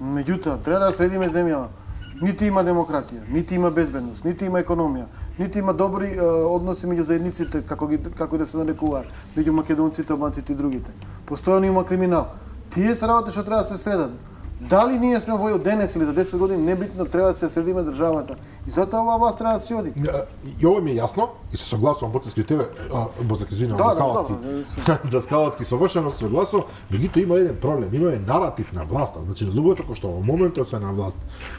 Меѓутоа, треба да следиме земјава. Нити има демократија, нити има безбедност, нити има економија, нити има добри е, односи меѓу заедниците, како ги како да се нарекуваат, меѓу македонците, албанците и другите. Постојано има криминал. Тие се работи што треба да се средат. Дали ние сме во денес или за десет години, небитно, треба да се средиме државата. И затоа оваа власт треба да се оди. И ова ми е јасно, и се согласувам потески тебе, Бозак, извинувам, Да, Даскаловски. да, Даскаловски совршено се согласувам, меѓутоа има еден проблем, има еден наратив на власта, значи луѓето кои што во моментот се на власт,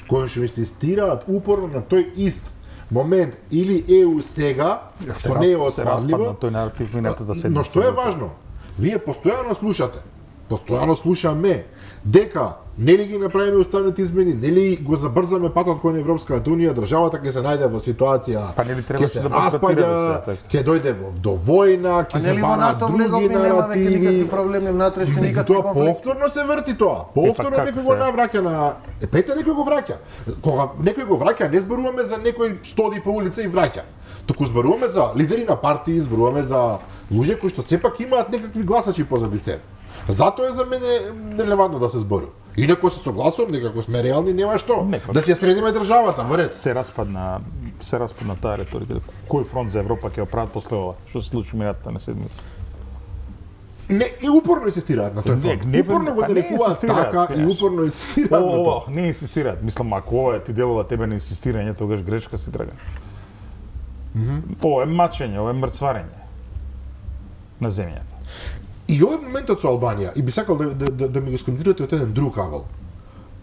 кои што инсистираат упорно на тој ист момент или Е У сега, што не е отфазливо, тој наратив минатата седмица. но што е важно, вие постојано слушате, постојано слушаме дека нели ги направиме уставните измени, нели го забрзаме патот кон Европската унија, државата ќе се најде во ситуација, па нели ќе се да распаѓа, ќе дојде во до војна, ќе се бараат други наративи. Никакви проблеми внатрешни, никакви Тоа конфликти. повторно се врти тоа. Повторно Е, па некој како го се? навраќа на епете некој го враќа. Кога некој го враќа, не зборуваме за некој што оди по улица и враќа. Туку зборуваме за лидери на партии, зборуваме за луѓе кои што сепак имаат некакви гласачи позади себе. Затоа е за мене нелевантно да се збори. Инаку се согласувам дека ако сме реални нема што Не, да се средиме државата, во ред. Се распадна, се распадна таа реторика. Кој фронт за Европа ќе го прават после ова? Што се случи минатата на седмица? Не, и упорно инсистираат на тој фронт. Не, не, Упорно го па не нарекуваат инсистираат, така и кажеш. упорно инсистираат на Ова, тоа. не инсистираат. Мислам, ако ова ти делува тебе на инсистирање, тогаш грешка си трага. Ова е мачење, ова е мрцварење на земјата. И овој моментот со Албанија, и би сакал да, да, да, да ми го скоментирате од еден друг агол.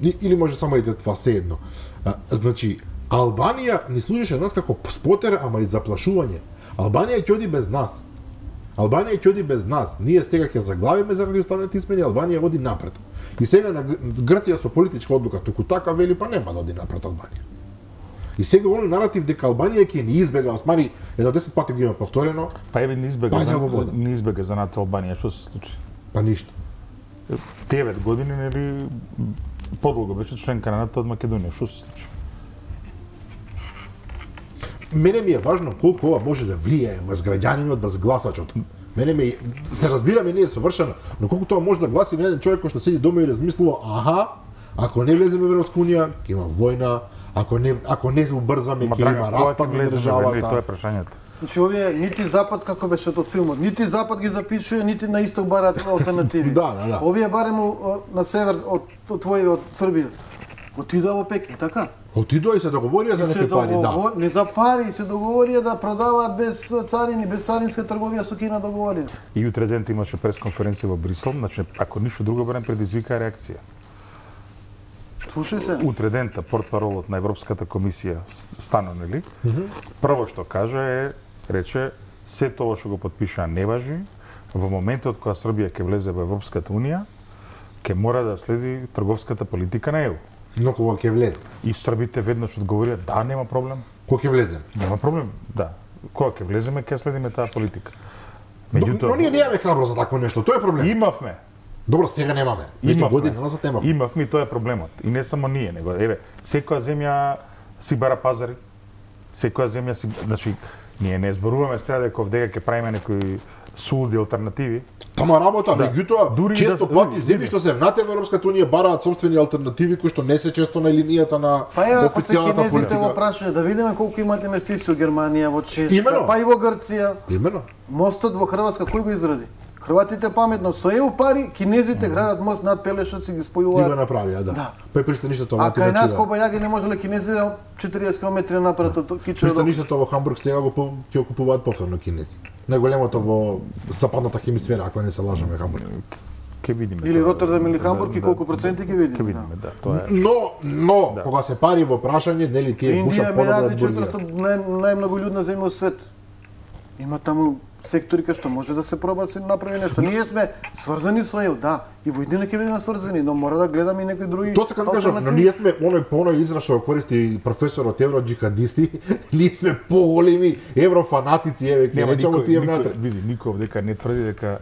И, или може само и това се едно. А, значи, Албанија ни служеше нас како спотер, ама и заплашување. Албанија ќе оди без нас. Албанија ќе оди без нас. Ние сега ќе заглавиме заради уставните измени, Албанија оди напред. И сега на Грција со политичка одлука, туку така вели, па нема да оди напред Албанија. И сега оној наратив дека Албанија ќе ни избега, осмари, едно десет пати го има повторено, Па еве не избега Паѓа за во вода. не избега за НАТО Албанија, што се случи? па ништо. девет години нели подолго беше членка на НАТО од Македонија, што се случи? Мене ми е важно колку ова може да влијае врз граѓанинот, врз гласачот. Мене ми се разбираме, не е совршено, но колку тоа може да гласи на еден човек кој што седи дома и размислува, аха, ако не влеземе во Европска унија, ќе има војна, ако не ако не се убрзаме, Ма, ќе драга, има кога ќе распад на влеземе во война, и Тоа е државата. прашањето. Значи овие нити Запад како беше од филмот, нити Запад ги запишува, нити на исток бараат алтернативи. Да, да, да. Овие барем о, на север од од твоите од Србија. Отидоа во Пекин, така? Отидоа и се договорија за се некои пари, да. договор... не за пари, се договорија да продаваат без царини, без царинска трговија со Кина договорија. И утре ден имаше пресконференција во Брисел, значи ако ништо друго барем предизвика реакција. Слушај се. утре дента портпаролот на Европската комисија стана, нели? Mm -hmm. Прво што кажа е, рече, се тоа што го потпишаа не важи, во моментот кога Србија ќе влезе во Европската унија, ќе мора да следи трговската политика на Е У. Но кога ќе влезе? И србите веднаш одговорија, да, нема проблем. Кога ќе влеземе? Нема проблем, да. Кога ќе влеземе, ќе следиме таа политика. Меѓутоа, но, но ние немаме храброст за такво нешто, тоа е проблем. Имавме. Добро, сега немаме. Веќе години назад немаме. Имавме и тоа е проблемот. И не само ние, него еве, секоја земја си бара пазари. Секоја земја си, значи, ние не зборуваме сега дека овдека ќе правиме некои сулуди алтернативи. Тама работа, Да. меѓутоа, Дури често да- пати дури- земји дури. што се внатре во Европската унија бараат собствени алтернативи кои што не се често на линијата на Па е, ако се официјалната кинезите во политика. прашање, да видиме колку имат инвестиции во Германија, во Чешка, Имено. па и во Грција. Имено. Мостот во Хрватска кој го изради? Хрватите паметно со Е У пари, кинезите градат мост над Пелешот, си ги И го спојуваат. направија, да. Да. Па и пристаништето А кај нас да. Кобајаги не можеле кинезите четириесет километри напред од Кичево. Пристаништето во Хамбург сега го по- ќе го купуваат повторно кинези. Најголемото во западната хемисфера, ако не се лажеме, Хамбург. Ќе видиме. Или тоа. Роттердам или Хамбург Да, и да, колку проценти ќе видиме. Ќе видиме, да, тоа е. Но, но, Да. кога се пари во прашање, нели тие Индија бушат е понадат милиарди бургија. четиристотини нај, најмногу луѓе земја во свет. Има таму сектори кај што може да се проба да се направи нешто. Ние сме сврзани со Е У, да, и во иднина ќе бидеме сврзани, но мора да гледаме и некои други. Тоа сакам да кажам, но алтернативи. ние сме оној по оној израз што го користи професорот евроџихадисти, ние сме поголеми еврофанатици, еве ќе Нема речеме никој, тие никој, внатре. види, никој овдека не тврди дека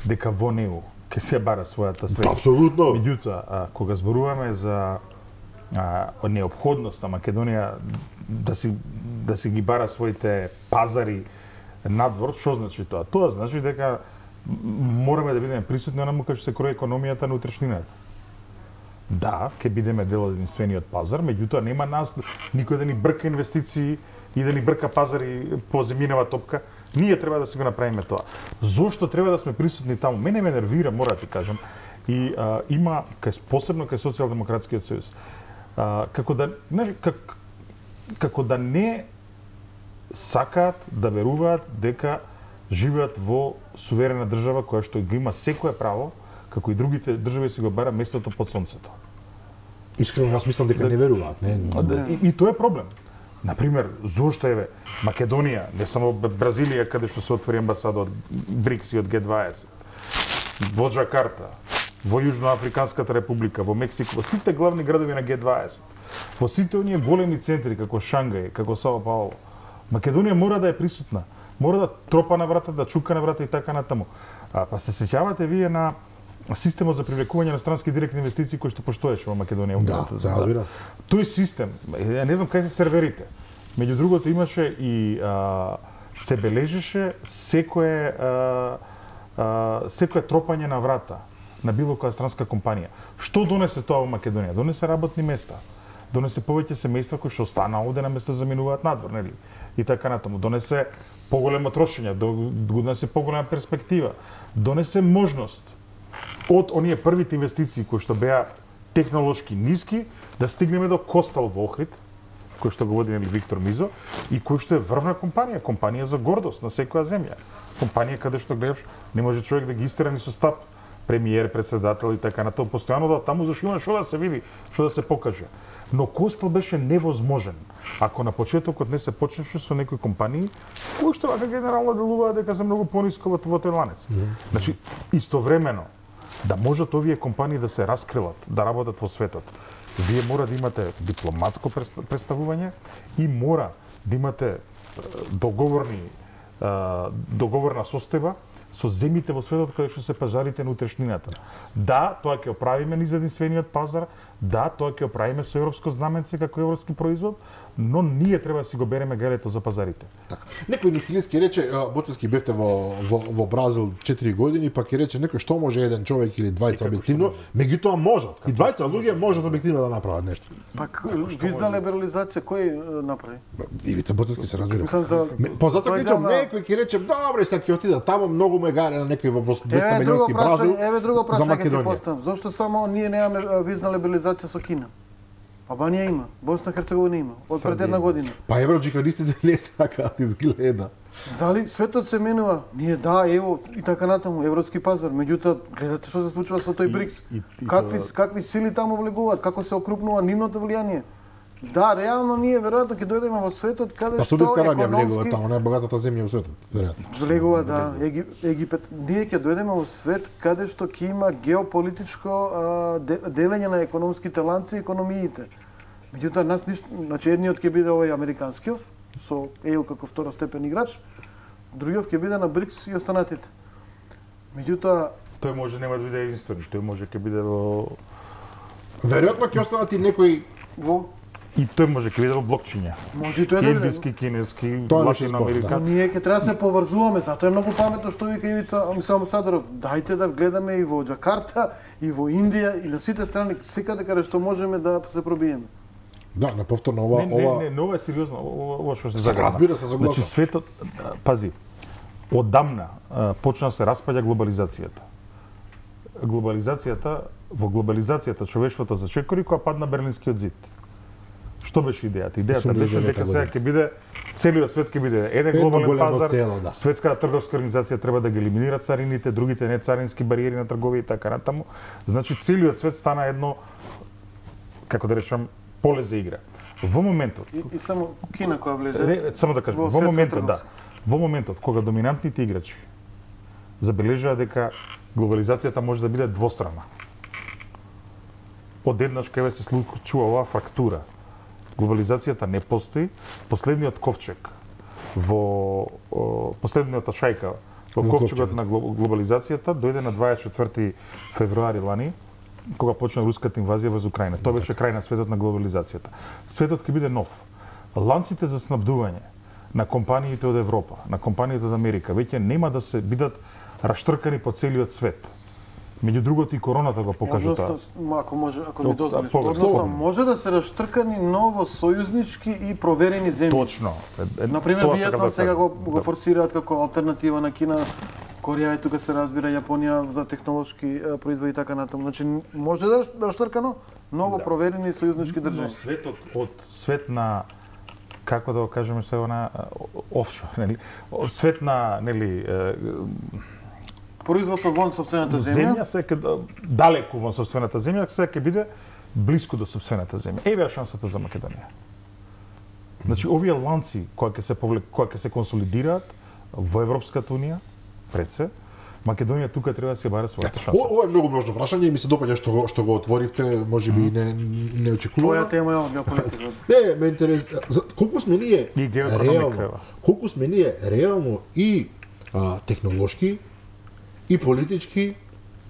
дека во Е У ќе се бара својата среќа. Апсолутно. Меѓутоа, а, кога зборуваме за а, неопходност на Македонија да си да си ги бара своите пазари надвор, што значи тоа? Тоа значи дека м- мораме да бидеме присутни онаму кај што се крои економијата на утрешнината. Да, ќе бидеме дел од единствениот пазар, меѓутоа нема нас никој да ни брка инвестиции и да ни брка пазари по земјинава топка. Ние треба да си го направиме тоа. Зошто треба да сме присутни таму? Мене ме нервира, мора да ти кажам. И а, има кај посебно кај Социјалдемократскиот сојуз. А, како да, знаеш, как, како да не сакаат да веруваат дека живеат во суверена држава која што го има секое право, како и другите држави си го бара местото под сонцето. Искрено, јас мислам дека не веруваат, не. И, и тоа е проблем. Например, зошто еве Македонија, не само Бразилија каде што се отвори амбасада од БРИКС и од Ге дваесет, во Джакарта, во Јужноафриканската република, во Мексико, во сите главни градови на Ге дваесет, во сите оние големи центри како Шангај, како Сао Пауло, Македонија мора да е присутна, мора да тропа на врата, да чука на врата и така натаму. А, па се сеќавате вие на системот за привлекување на странски директни инвестиции кој што постоеше во Македонија. Да, се разбира. Тој систем, ја не знам кај се серверите. Меѓу другото имаше и а, се бележеше секое а, а, секое тропање на врата на било која странска компанија. Што донесе тоа во Македонија? Донесе работни места. Донесе повеќе семејства кои што остана овде на место заминуваат надвор, нели? И така натаму. Донесе поголемо трошење, донесе поголема перспектива. Донесе можност од оние првите инвестиции кои што беа технолошки ниски да стигнеме до Костал во Охрид, кој што го води нели Виктор Мизо и кој што е врвна компанија, компанија за гордост на секоја земја. Компанија каде што гледаш не може човек да ги истера ни со стап, премиер, председател и така натаму, постојано да таму зашто има што да се види, што да се покаже. Но Костал беше невозможен ако на почетокот не се почнеше со некои компании кои што вака генерално делуваат дека се многу пониско во во тој ланец. Значи истовремено да можат овие компании да се раскрилат, да работат во светот, вие мора да имате дипломатско представување и мора да имате е, договорни е, договорна состојба со земјите во светот каде што се пазарите на утрешнината. Да, тоа ќе оправиме низ единствениот пазар, да, тоа ќе оправиме со европско знаменце како европски производ, но ние треба да си го береме галето за пазарите. Така. Некој нихилиски рече, Боцевски бевте во, во, во Бразил четири години, па ќе рече некој што може еден човек или двајца објективно, меѓутоа можат. И двајца луѓе можат објективно да направат нешто. Пак визна либерализација кој е, направи? Ивица Боцевски се разбира. Мислам за Ме- Па затоа тој кажам, дел на- некој ќе рече, добре, сега ќе отида таму, многу ме гаре на некој во во двеста Еве друго милионски Бразил прашање, еве друго за прашање ќе ти Македонија. поставам. Зошто само ние немаме а, визна либерализација со Кина? Албанија има, Босна и Херцеговина има, од пред една година. Па евроджихадистите не сакаат изгледа. Зали светот се менува? Ние да, ево и така натаму, европски пазар, меѓутоа гледате што се случува со тој БРИКС. И, и, и какви тоа... какви сили таму влегуваат, како се окрупнува нивното влијание. Да, реално ние веројатно ќе дојдеме во светот каде па, што економски влегува таму, најбогатата земја во светот, веројатно. Влегува, да, Еги, Египет. Ние ќе дојдеме во свет каде што ќе има геополитичко а, де, делење на економските ланци и економиите. Меѓутоа нас ништо, значи едниот ќе биде овој американскиот со Е У како второстепен играч, другиот ќе биде на БРИКС и останатите. Меѓутоа тој може нема да биде единствен, тој може ќе биде во веројатно ќе останат и некои во и тој може ќе биде во блокчиња. Може и тој да биде. Индиски, кинески, Да. латиноамерикански. Ние ќе треба да се поврзуваме, затоа е многу паметно што вика Ивица Амсадров. Дајте да гледаме и во Џакарта, и во Индија, и на сите страни, секаде каде што можеме да се пробиеме. Да, на повторно ова Не, не, ова не, не, ова е сериозно, ова, ова што се Се загадна. разбира, се согласувам. Значи светот, пази, одамна а, почна да се распаѓа глобализацијата. Глобализацијата, во глобализацијата човештвото зачекори кога падна Берлинскиот зид. Што беше идејата? Идејата беше дека сега ќе биде целиот свет ќе биде еден Едно глобален големо пазар. село, да. Светската трговска организација треба да ги елиминира царините, другите не царински бариери на трговија и така натаму. Значи целиот свет стана едно, како да речам, поле за игра. Во моментот И, и само Кина која влезе. Не, само да кажам, во во светска моментот да. трговска. Во моментот кога доминантните играчи забележаа дека глобализацијата може да биде двострана. Одеднаш кај се случува оваа фрактура. Глобализацијата не постои. Последниот ковчег во о, последниот шајка во Во ковчегот ковчегот. на глобализацијата дојде на дваесет и четврти февруари лани, кога почна руската инвазија во Украина. Тоа беше крај на светот на глобализацијата. Светот ќе биде нов. Ланците за снабдување на компаниите од Европа, на компаниите од Америка, веќе нема да се бидат раштркани по целиот свет. Меѓу другото и короната го покажа тоа. Односно, ако може, ако ми Тоа, дозволиш, повеќе, односно слободно. може да се раштркани ново сојузнички и проверени земји. Точно. Е, е, Например, тоа Виетнам да сега кажам. го, го форсираат како алтернатива на Кина, Кореја и тука се разбира Јапонија за технолошки е, производи и така натаму. Значи може да да раштркано ново Да. проверени сојузнички Но држави. светот од свет на како да го кажеме сега на офшор, нели? Свет на, нели, е, Производство вон сопствената земја. земја се ќе далеку во сопствената земја, сега ќе биде блиску до сопствената земја. Еве е шансата за Македонија. Значи овие ланци кои ќе се повлек, кои ќе се консолидираат во Европската унија, пред се, Македонија тука треба да се баре својата шанса. О, ова е многу можно прашање и ми се допаѓа што го што го отворивте, можеби не не очекувано. Твоја тема е ова геополитика. Не, ме интерес колку сме ние И геоекономика, реално, ева. колку сме ние реално и а, технолошки и политички,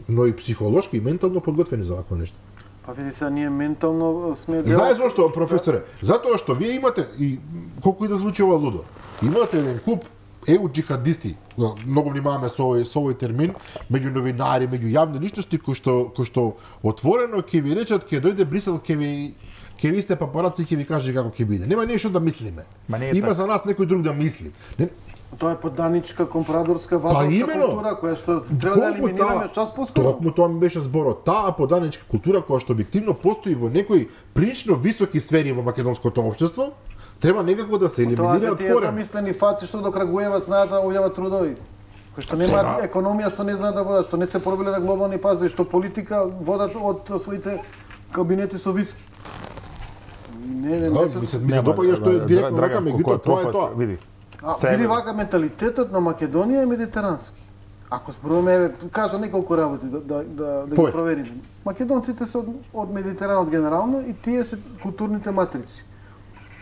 но и психолошки и ментално подготвени за вакво нешто. Па види се, ние ментално сме дел... Знаеш зошто, професоре? Затоа што вие имате и колку и да звучи ова лудо. Имате еден клуб Е У джихадисти. Многу внимаваме со овој со овој термин меѓу новинари, меѓу јавни личности кои што кои што отворено ќе ви речат ќе дојде Брисел ќе ви ќе ви сте папараци ќе ви каже како ќе биде. Нема нешто да мислиме. Ма не е Има така. за нас некој друг да мисли. Не, Тоа е подданичка, компрадорска, вазалска Па имено. култура која што треба да колку елиминираме таа- час поскоро. Токму тоа ми беше зборот. Таа поданичка култура која што објективно постои во некои прилично високи сфери во македонското општество, треба некако да се Тоа елиминира за од тие корен. замислени фаци што до Крагуева знаат да објават трудови. Кои што нема Сега- економија, што не знаат да водат, што не се пробиле на глобални пазари, што политика водат од своите кабинети со виски. Не, не, Да, не се... ми се, ми се допаѓа што е директно вака, меѓутоа тоа е тоа. Види. А, Сега- види вака менталитетот на Македонија е медитерански. Ако зборуваме, еве, кажа неколку работи да да да, да ги Повеќе. провериме. Македонците се од, од Медитеранот генерално и тие се културните матрици.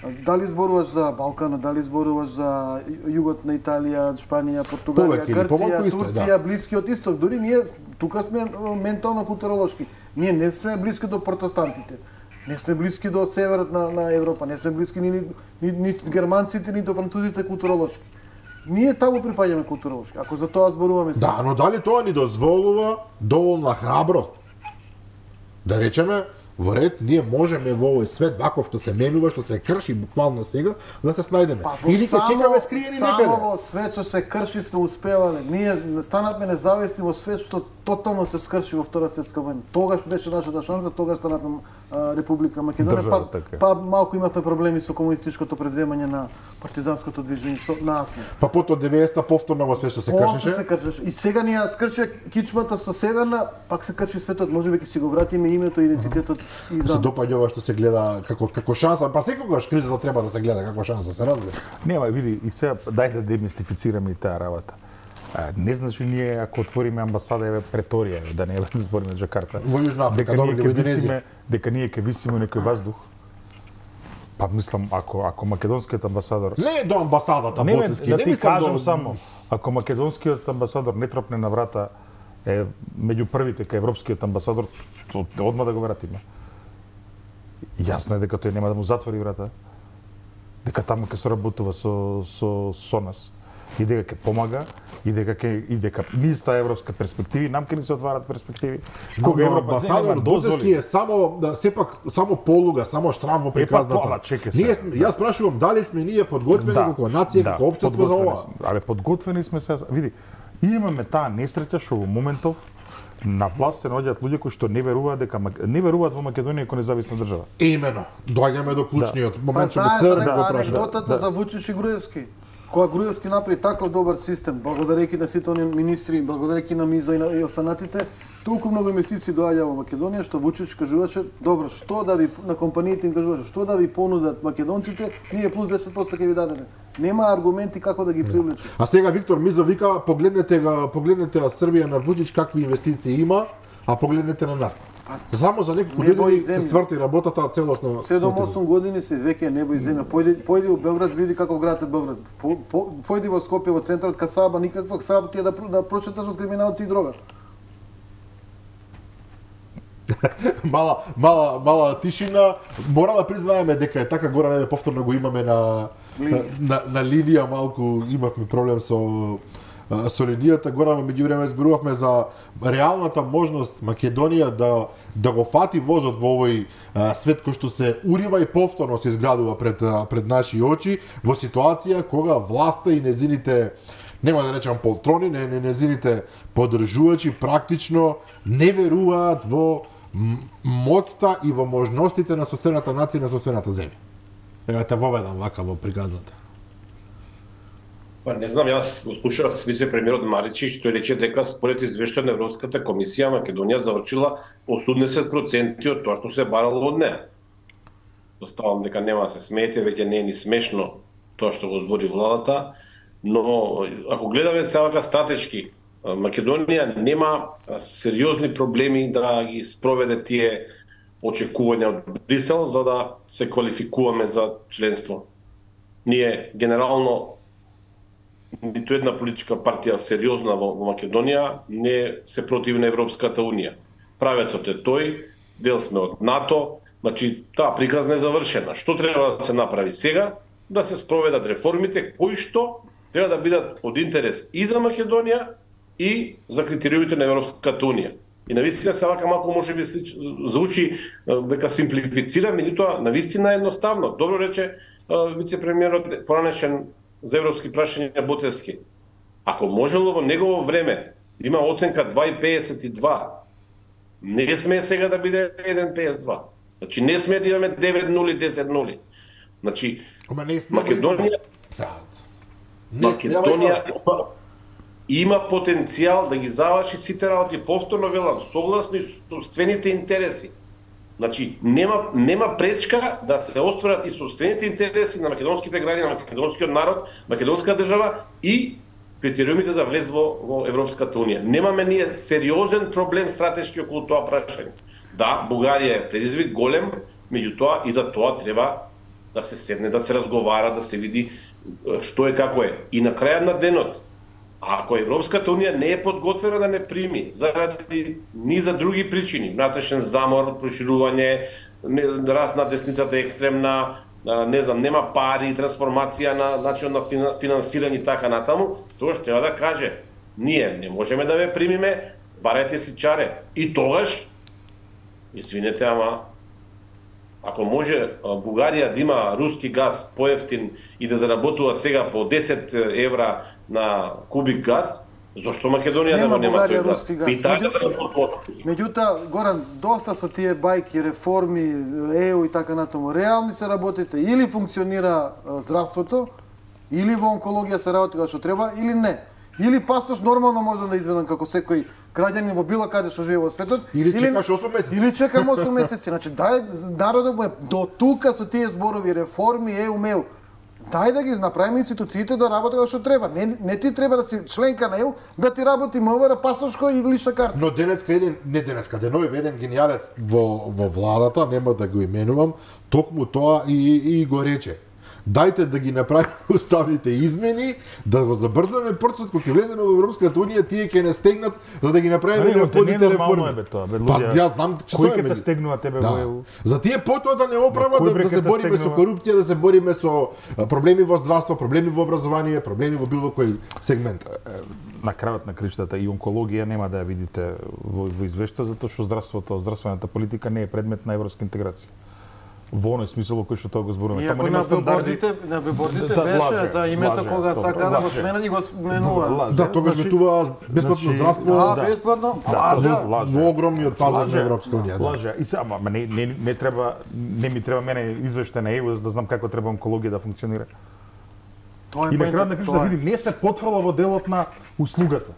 А Дали зборуваш за Балканот, дали зборуваш за југот на Италија, Шпанија, Португалија, Повеќе или помалку Грција, исто е, Турција, да. Блискиот исток, дури ние тука сме е, ментално културолошки. Ние не сме блиски до протестантите. Не сме блиски до северот на, на Европа, не сме блиски ни, ни, ни германците, ни до французите културолошки. Ние таму припаѓаме културолошки. Ако за тоа зборуваме сега. Да, но дали тоа ни дозволува доволна храброст? Да речеме, во ред, ние можеме во овој свет ваков што се менува, што се крши буквално сега, да се снајдеме. Па, Или ќе чекаме скриени некаде. Само во свет што се крши сме успевале. Ние станавме независни во свет што тотално се скрши во Втора светска војна. Тогаш беше нашата шанса, тогаш станавме а, Република Македонија, па, така. па малку имавме проблеми со комунистичкото преземање на партизанското движење со насно. Па потоа деветдесетта повторно во свет што се После кршеше. се кршеше. И сега ние скрши кичмата со Северна, пак се крши светот, можеби ќе си го вратиме името, идентитетот и Се знам. допаѓа ова што се гледа како како шанса, па секогаш кризата треба да се гледа како шанса, се разбира. Нема, види, и сега дај да демистифицираме и таа работа. А, не значи ние ако отвориме амбасада еве Преторија, да не збориме Джакарта. Во Јужна Африка, добро, ние во ќе Индонезија. висиме, дека ние ќе висиме некој воздух. Па мислам, ако ако македонскиот амбасадор Не до амбасадата не, Боцевски, да не ти мислам кажам до само, ако македонскиот амбасадор не тропне на врата е меѓу првите кај европскиот амбасадор, одма да го вратиме. Јасно е дека тој нема да му затвори врата. Дека таму ќе соработува со со со нас и дека ќе помага и дека ќе и дека ниста европска перспективи, нам ќе ни се отварат перспективи. Кога амбасадор Боцевски е само да сепак само полуга, само штрам во приказната. тоа, чекај се. Ние сме, јас прашувам дали сме ние подготвени како нација, како општество за ова. Абе подготвени сме се. Види, и имаме таа несреќа што во моментов на власт се наоѓаат луѓе кои што не веруваат дека не веруваат во Македонија како независна држава. Имено, доаѓаме до клучниот Па момент што го знаеш црн да, го праша. анекдотата за Вучич и Груевски. Кога Груевски направи таков добар систем, благодарејќи на сите оние министри, благодарејќи на Миза и на и останатите, толку многу инвестиции доаѓа во Македонија што Вучич кажуваше, добро, што да ви на компаниите им кажуваше, што да ви понудат македонците, ние плюс десет проценти ќе ви дадеме. Нема аргументи како да ги привлече. А сега Виктор Мизо вика, погледнете го, погледнете Србија на Вучич какви инвестиции има, а погледнете на нас. Само за неколку Небо и години се земја. сврти работата целосно. седум-осум години се веќе небо и земја. Појди, појди во Белград, види каков град е Белград. По, по, појди во Скопје, во центарот Касаба, никаква срав ти е да, да прочеташ од криминалци и дрога. мала, мала, мала тишина. Мора да признаеме дека е така, гора не повторно го имаме на на, на, на линија, малку имавме проблем со со линијата. Гора во меѓувреме зборувавме за реалната можност Македонија да да го фати возот во овој а, свет кој што се урива и повторно се изградува пред а, пред наши очи во ситуација кога власта и незините, нема да речам полтрони, не, не незините поддржувачи практично не веруваат во моќта и во можностите на соседната нација и на соседната земја. Ева те воведам вака во приказната. Па не знам, јас го слушав вице-премиерот Маричич, тој рече дека според извештај на Европската комисија Македонија завршила осумдесет проценти од тоа што се барало од неа. Оставам дека нема да се смеете, веќе не е ни смешно тоа што го збори владата, но ако гледаме сега стратешки, Македонија нема сериозни проблеми да ги спроведе тие очекувања од Брисел за да се квалификуваме за членство. Ние генерално ниту една политичка партија сериозна во Македонија не се против на Европската Унија. Правецот е тој, дел сме од НАТО, значи таа приказна е завршена. Што треба да се направи сега? Да се спроведат реформите кои што треба да бидат од интерес и за Македонија и за критериумите на Европската Унија. И навистина се вака малку може би звучи дека симплифицира, меѓутоа навистина е едноставно. Добро рече вице-премиерот поранешен за европски прашања Боцевски. Ако можело во негово време има оценка два и педесет и два, не сме сега да биде еден и педесет и два. Значи не сме да имаме девет нули, десет нули. Значи Македонија Македонија има потенцијал да ги заврши сите работи, повторно велам, согласно и собствените интереси. Значи, нема, нема пречка да се остварат и собствените интереси на македонските граѓани, на македонскиот народ, македонска држава и критериумите за влез во, во Европската Унија. Немаме ние сериозен проблем стратешки околу тоа прашање. Да, Бугарија е предизвик голем, меѓутоа и за тоа треба да се седне, да се разговара, да се види што е како е. И на крајот на денот, ако Европската Унија не е подготвена да не прими заради низа други причини, внатрешен замор, проширување, раст на десницата екстремна, не знам, нема пари, трансформација на начин на финансирање и така натаму, тогаш треба да каже, ние не можеме да ве примиме, барете си чаре. И тогаш, извинете, ама Ако може Бугарија да има руски газ поевтин и да заработува сега по десет евра на кубик газ, зошто Македонија нема да нема Бугарија тој газ? руски газ. Меѓутоа, меѓутоа, Горан, доста со тие бајки, реформи, Е У и така натаму. Реални се работите, или функционира а, здравството, или во онкологија се работи како што треба, или не. Или пасош нормално може да изведам како секој граѓанин во било каде што живее во светот, Или чекаш осум месеци. Или чекам осум месеци. Значи, дај народот му е до тука со тие зборови, реформи, Е У, Ме У. Дај да ги направиме институциите да работат како што треба. Не, не ти треба да си членка на Е У, да ти работи МВР, пасошко и лична карта. Но денеска еден, не денеска, денови еден гениалец во, во владата, нема да го именувам, токму тоа и, и го рече. Дајте да ги направиме уставните измени, да го забрзаме процесот кога ќе влеземе во Европската унија, тие ќе не стегнат за да ги направиме неопходните реформи. Бе тоа, бе, па луѓе, јас знам че кој тоа е. ќе те стегнува тебе да. во Е У? За тие потоа да не оправат да, да се бориме со корупција, да се бориме со проблеми во здравство, проблеми во образование, проблеми во било кој сегмент. На крајот на криштата и онкологија нема да ја видите во, во извештај, затоа што здравството, здравствената политика не е предмет на европска интеграција. Во оној смисол кој што тоа го зборуваме. Иако на билбордите, на билбордите Да, беше лаже, за името лаже, кога добро, сака да го лаже. сменат и го сменува. Да, тогаш значи- ветува бесплатно значи- здравство. Да, да. бесплатно. Да, Лажа. лаже. Во огромниот пазар Лаже, на Европска унија, да. Лаже. И сега, ама не, не, не треба, не ми треба мене извештај на Е У за да знам како треба онкологија да функционира. Тоа е И на крајот на поентата, криштата тоа е. види, не се потврла во делот на услугата.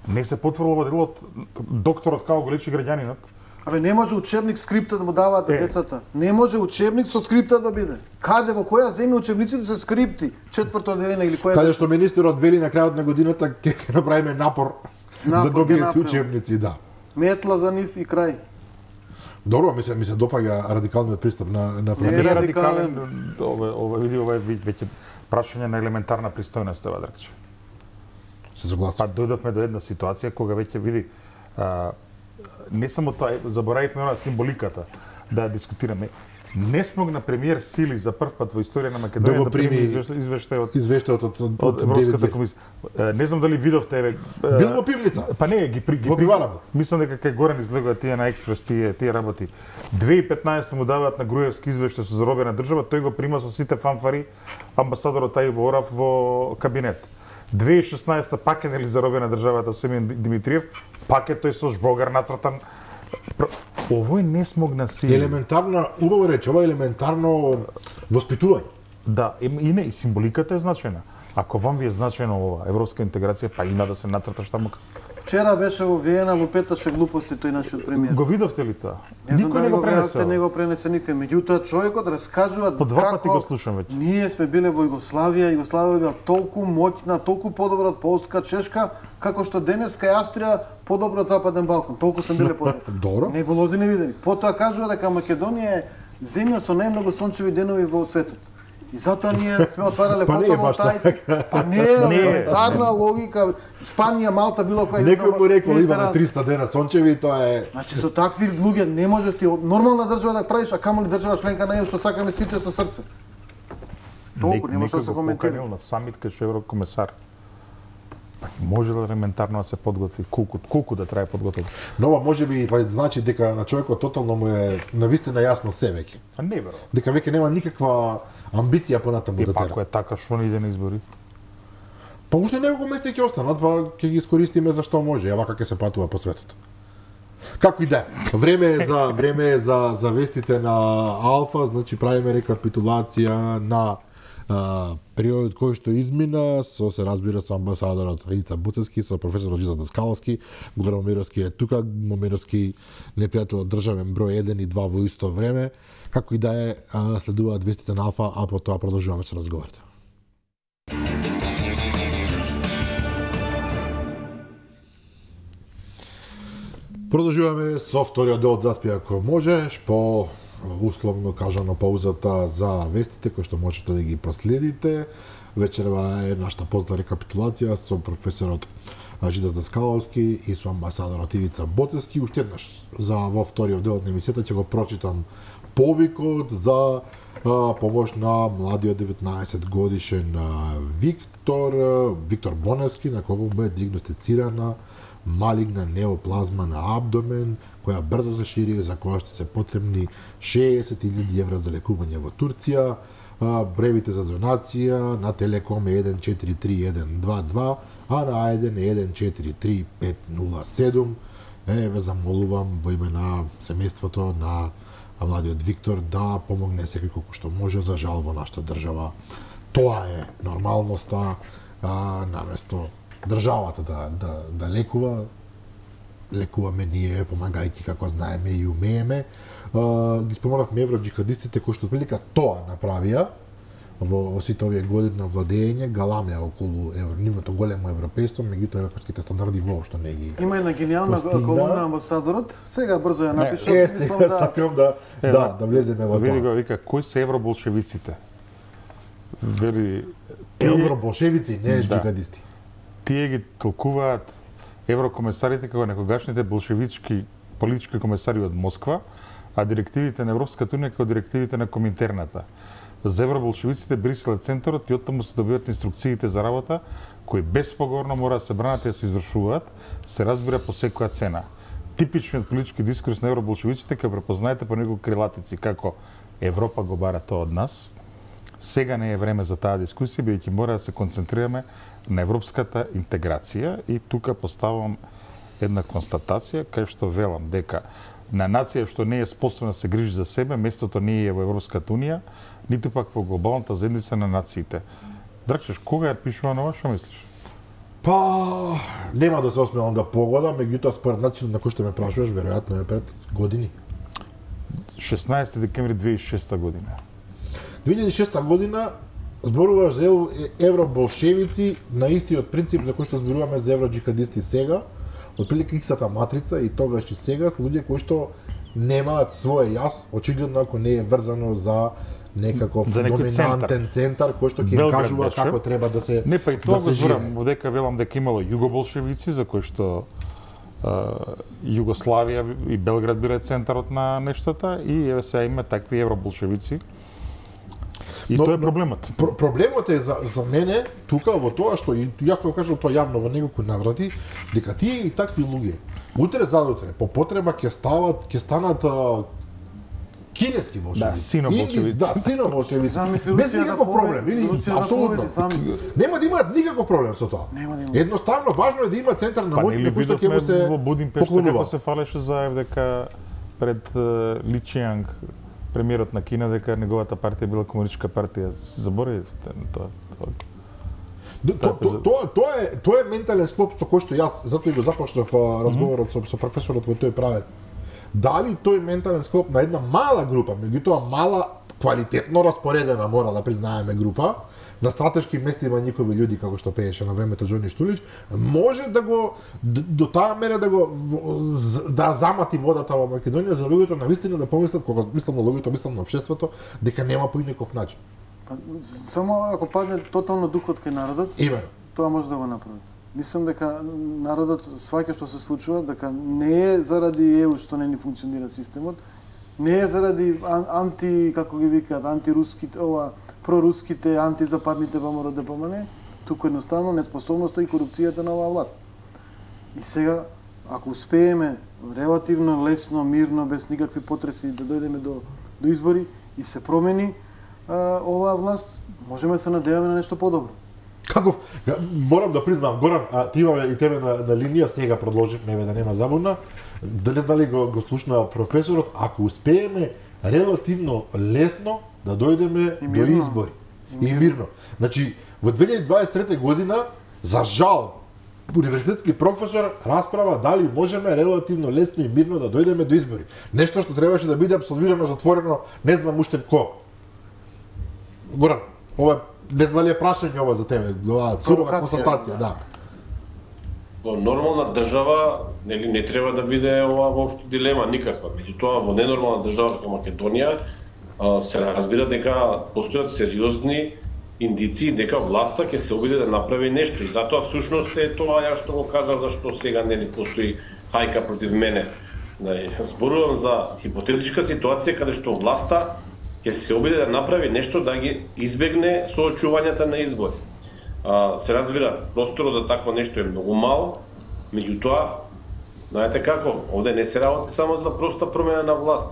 Не се потврла во делот докторот како го лечи граѓанинот. Абе не може учебник скрипта да му даваат на Е. децата. Не може учебник со скрипта да биде. Каде во која земја учебниците се скрипти? Четврто одделение или која? Каде беше? што министерот вели на крајот на годината ќе ќе направиме напор, Напор да ќе добиете направиме. учебници, да. Метла за нив и крај. Добро, ми се ми се допаѓа радикалниот пристап на на Не, професор. Не радикален. радикален, ова ова види ова е веќе прашање на елементарна пристојност, ова Драгче. Се согласувам. Па дојдовме до една ситуација кога веќе види а, не само тоа, заборавивме она символиката да ја дискутираме. Не смогна премиер Сили за прв пат во историја на Македонија Да го да прими прими извештај извештај од Извештајот од од, од Европската комисија. Е, Не знам дали видовте еве. е, Бил во пивница. Па не, ги при ги Во при- пивара бил. Мислам дека кај Горан излегува тие на експрес, тие тие работи. две тисячи и петнаесета му даваат на Груевски извештај со заробена држава, тој го прима со сите фанфари амбасадорот Тајво Орав во кабинет. две тисячи и шеснаесета пак е нели заробена државата со Емин Димитриев, пак е тој со жбогар нацртан. Пр- Овој не смогна си. Елементарна, убаво рече, ова е елементарно воспитување. Да, и и не, и символиката е значајна. Ако вам ви е значајно ова европска интеграција, па има да се нацрташ таму. Вчера беше во Виена лупеташе глупости тој нашиот премиер. Го видовте ли тоа? Не знам Никој дали не го го гледавте, пренесе. не го пренесе никој. Меѓутоа човекот раскажува По два како пати го слушам веќе. ние сме биле во Југославија, Југославија била толку моќна, толку подобра од Полска, Чешка, како што денеска е Австрија подобра од Западен Балкан. Толку сме биле подобри. Добро. Небулози невидени. Потоа кажува дека Македонија е земја со најмногу сончеви денови во светот. И затоа ние сме отварале Па не е баш фотоволтаици. Па не е Не е. елементарна логика. Шпанија, Малта, било која Некој му рекол имаме Медитеранска. триста дена сончеви, тоа е Значи со такви луѓе не можеш ти од нормална држава да правиш, а камо ли држава членка на Е У што сакаме сите со срце. Толку Нек- нема што некој да се го коментира. поканил на самит кај што еврокомесар. Па може да елементарно да се подготви, колку колку да трае подготовка. но ова можеби па значи дека на човекот тотално му е навистина јасно се веќе. А не верувам. Дека веќе нема никаква амбиција понатаму И да па тера. ако е така, што не иде на избори? Па уште неколку месеци ќе останат, па ќе ги искористиме за што може, а вака ќе се патува по светот. Како и да е. Време е за време е за за вестите на Алфа, значи правиме рекапитулација на а, периодот кој што измина, со се разбира со амбасадорот Ица Буцевски, со професорот Жиза Даскаловски, Горан Момировски е тука, Момировски непријател државен број еден и два во исто време. Како и да е, а, следуваат вестите на Алфа, а по тоа продолжуваме со разговорите. Продолжуваме со вториот дел од Заспи ако можеш, по условно кажано паузата за вестите кои што можете да ги проследите. Вечерва е нашата позна рекапитулација со професорот Жидас Даскаловски и со амбасадорот Ивица Боцевски. Уште еднаш за во вториот дел од емисијата ќе го прочитам повикот за а, помош на младиот деветнаесет годишен а, Виктор Виктор Боневски, на кого му е диагностицирана малигна неоплазма на абдомен, која брзо се шири, за која ще се потребни шеесет илјади евра за лекување во Турција. Бревите за донација на Телеком е еден четири три еден два два, а на Ајден е еден четири три пет нула седум. Е, ве замолувам во име на семејството на младиот Виктор да помогне секој колку што може. За жал во нашата држава тоа е нормалноста, а, наместо државата да, да, да лекува, лекуваме ние, помагајќи како знаеме и умееме. А, ги споменавме евроджихадистите кои што отприлика тоа направија во, во сите овие години на владење, галамеа околу евро, нивното големо европејство, меѓутоа европските стандарди воопшто не ги. Има една гениална колумна амбасадорот, сега брзо ја напишав. Е, сега да... сакам да, е, да, да влеземе во тоа. Види го, вика, кои се евроболшевиците? Вели... Евроболшевици, не да. джихадисти. Тие ги толкуваат еврокомесарите како некогашните болшевички политички комесари од Москва, а директивите на Европската унија како директивите на Коминтерната. За евроболшевиците Брисел е центарот и оттаму се добиваат инструкциите за работа, кои безпоговорно мора да се бранат и да се извршуваат, се разбира по секоја цена. Типичниот политички дискурс на евроболшевиците ќе препознаете по неколку крилатици како Европа го бара тоа од нас. Сега не е време за таа дискусија, бидејќи мора да се концентрираме на европската интеграција и тука поставам една констатација кај што велам дека на нација што не е способна да се грижи за себе, местото не е во Европската унија, ниту пак во глобалната заедница на нациите. Дракчеш, кога ја пишува ова, што мислиш? Па, нема да се осмелам да погодам, меѓутоа според начинот на кој што ме прашуваш, веројатно е пред години. шеснаесети декември две илјади и шеста година. две илјади и шеста година зборуваш за евроболшевици на истиот принцип за кој што зборуваме за евроджихадисти сега, отприлика истата матрица и тогаш и сега, луѓе кои што немаат своје јас, очигледно ако не е врзано за некаков за доминантен центар, центар кој што ќе им кажува беше. Како треба да се не па и тоа да го зборам, дека велам дека имало југоболшевици за кои што Uh, Југославија и Белград биле центарот на нештата и еве сега има такви евроболшевици. И но, тоа е проблемот. Про, проблемот е за, за мене тука во тоа што и јас го кажал тоа јавно во неколку наврати, дека тие и такви луѓе утре задутре по потреба ќе стават, ќе станат а, кинески болшевици. Да, сино-болшевици. Да, сино-болшевици. Без никаков да проблем. Или, апсолутно. Да нема да имаат никаков проблем со тоа. Нема да има. Едноставно, важно е да има центар на моќ на кој што ќе му се во Будимпешта како се фалеше за еф де ка пред uh, Ли Чијанг, премиерот на Кина, дека неговата партија била комунистичка партија. Заборави тоа. Тоа тоа е тоа е ментален склоп со кој што јас затоа и го започнав разговорот со, со професорот во тој правец. Дали тој ментален склоп на една мала група, меѓутоа мала, квалитетно распоредена, мора да признаеме група, на стратешки места има никови луѓе како што пееше на времето Џони Штулич, може да го до таа мера да го да замати водата во Македонија за луѓето навистина да помислат, кога мислам на луѓето, мислам на општеството, дека нема по никаков начин. Па, само ако падне тотално духот кај народот, именно тоа може да го направат. Мислам дека народот сваќа што се случува, дека не е заради ЕУ што не ни функционира системот, не е заради анти, како ги викаат, антируските, ова, проруските, антизападните ВМРО Д П М Н, туку едноставно неспособноста и корупцијата на оваа власт. И сега, ако успееме релативно лесно, мирно, без никакви потреси да дојдеме до, до избори и се промени а, оваа власт, можеме да се надеваме на нешто подобро. Каков, морам да признам, Горан, а ти имаме и тебе на, на линија, сега продолживме, да нема забуна. Дали знали го, го слушна професорот, ако успееме релативно лесно да дојдеме до избори. И мирно. И мирно. Значи, во две илјади дваесет и трета година, за жал, универзитетски професор расправа дали можеме релативно лесно и мирно да дојдеме до избори. Нешто што требаше да биде абсолвирано, затворено, не знам уште ко. Горан, ова не знам ли е прашање ова за тебе, ова сурова констатација, да. Во нормална држава нели не треба да биде ова воопшто дилема никаква. Меѓутоа во ненормална држава како Македонија се разбира дека постојат сериозни индици дека власта ќе се обиде да направи нешто и затоа всушност е тоа ја што го кажав зашто сега нели постои хајка против мене. Да зборувам за хипотетичка ситуација каде што власта ќе се обиде да направи нешто да ги избегне соочувањата на избори. А, се разбира, просторот за такво нешто е многу мал, Меѓутоа, знаете како, овде не се работи само за проста промена на власт.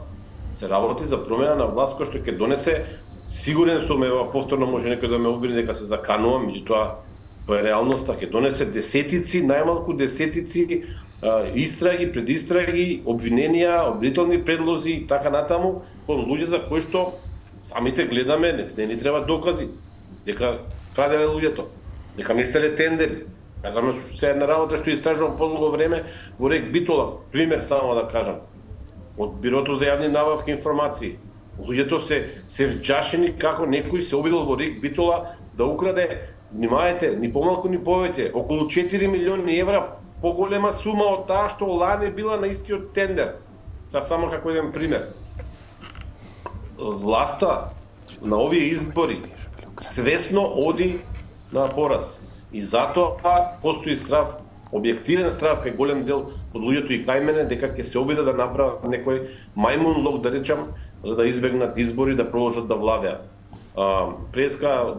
Се работи за промена на власт која што ќе донесе, сигурен сум, ева повторно може некој да ме обвини дека се заканувам, меѓутоа тоа е реалноста, ќе донесе десетици, најмалку десетици а, истраги, предистраги, обвиненија, обвинителни предлози и така натаму, кон луѓе за кои што самите гледаме, не, не ни треба докази, дека краделе луѓето, дека мислеле тендери. Кажаме се една работа што истражувам подолго време во Рек Битола, пример само да кажам, од Бирото за јавни набавки информации. Луѓето се се вџашени како некој се обидел во Рек Битола да украде, внимајте, ни помалку ни повеќе, околу четири милиони евра поголема сума од таа што лане била на истиот тендер. Са само како еден пример. Власта на овие избори свесно оди на пораз. И затоа постои страв, објективен страв кај голем дел од луѓето и кај мене дека ќе се обиде да направат некој мајмун лог, да речам, за да избегнат избори да продолжат да владеат. А, преска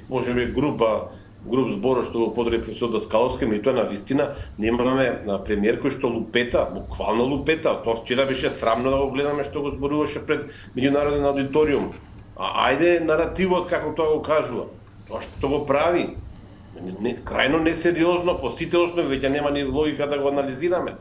можеби група груп збора што го подори професор Даскаловски, меѓутоа на вистина немаме на премиер кој што лупета, буквално лупета. Тоа вчера беше срамно да го гледаме што го зборуваше пред меѓународен аудиториум. А ајде наративот како тоа го кажува. Тоа што го прави не, крајно несериозно, по сите основи веќе нема ни логика да го анализираме.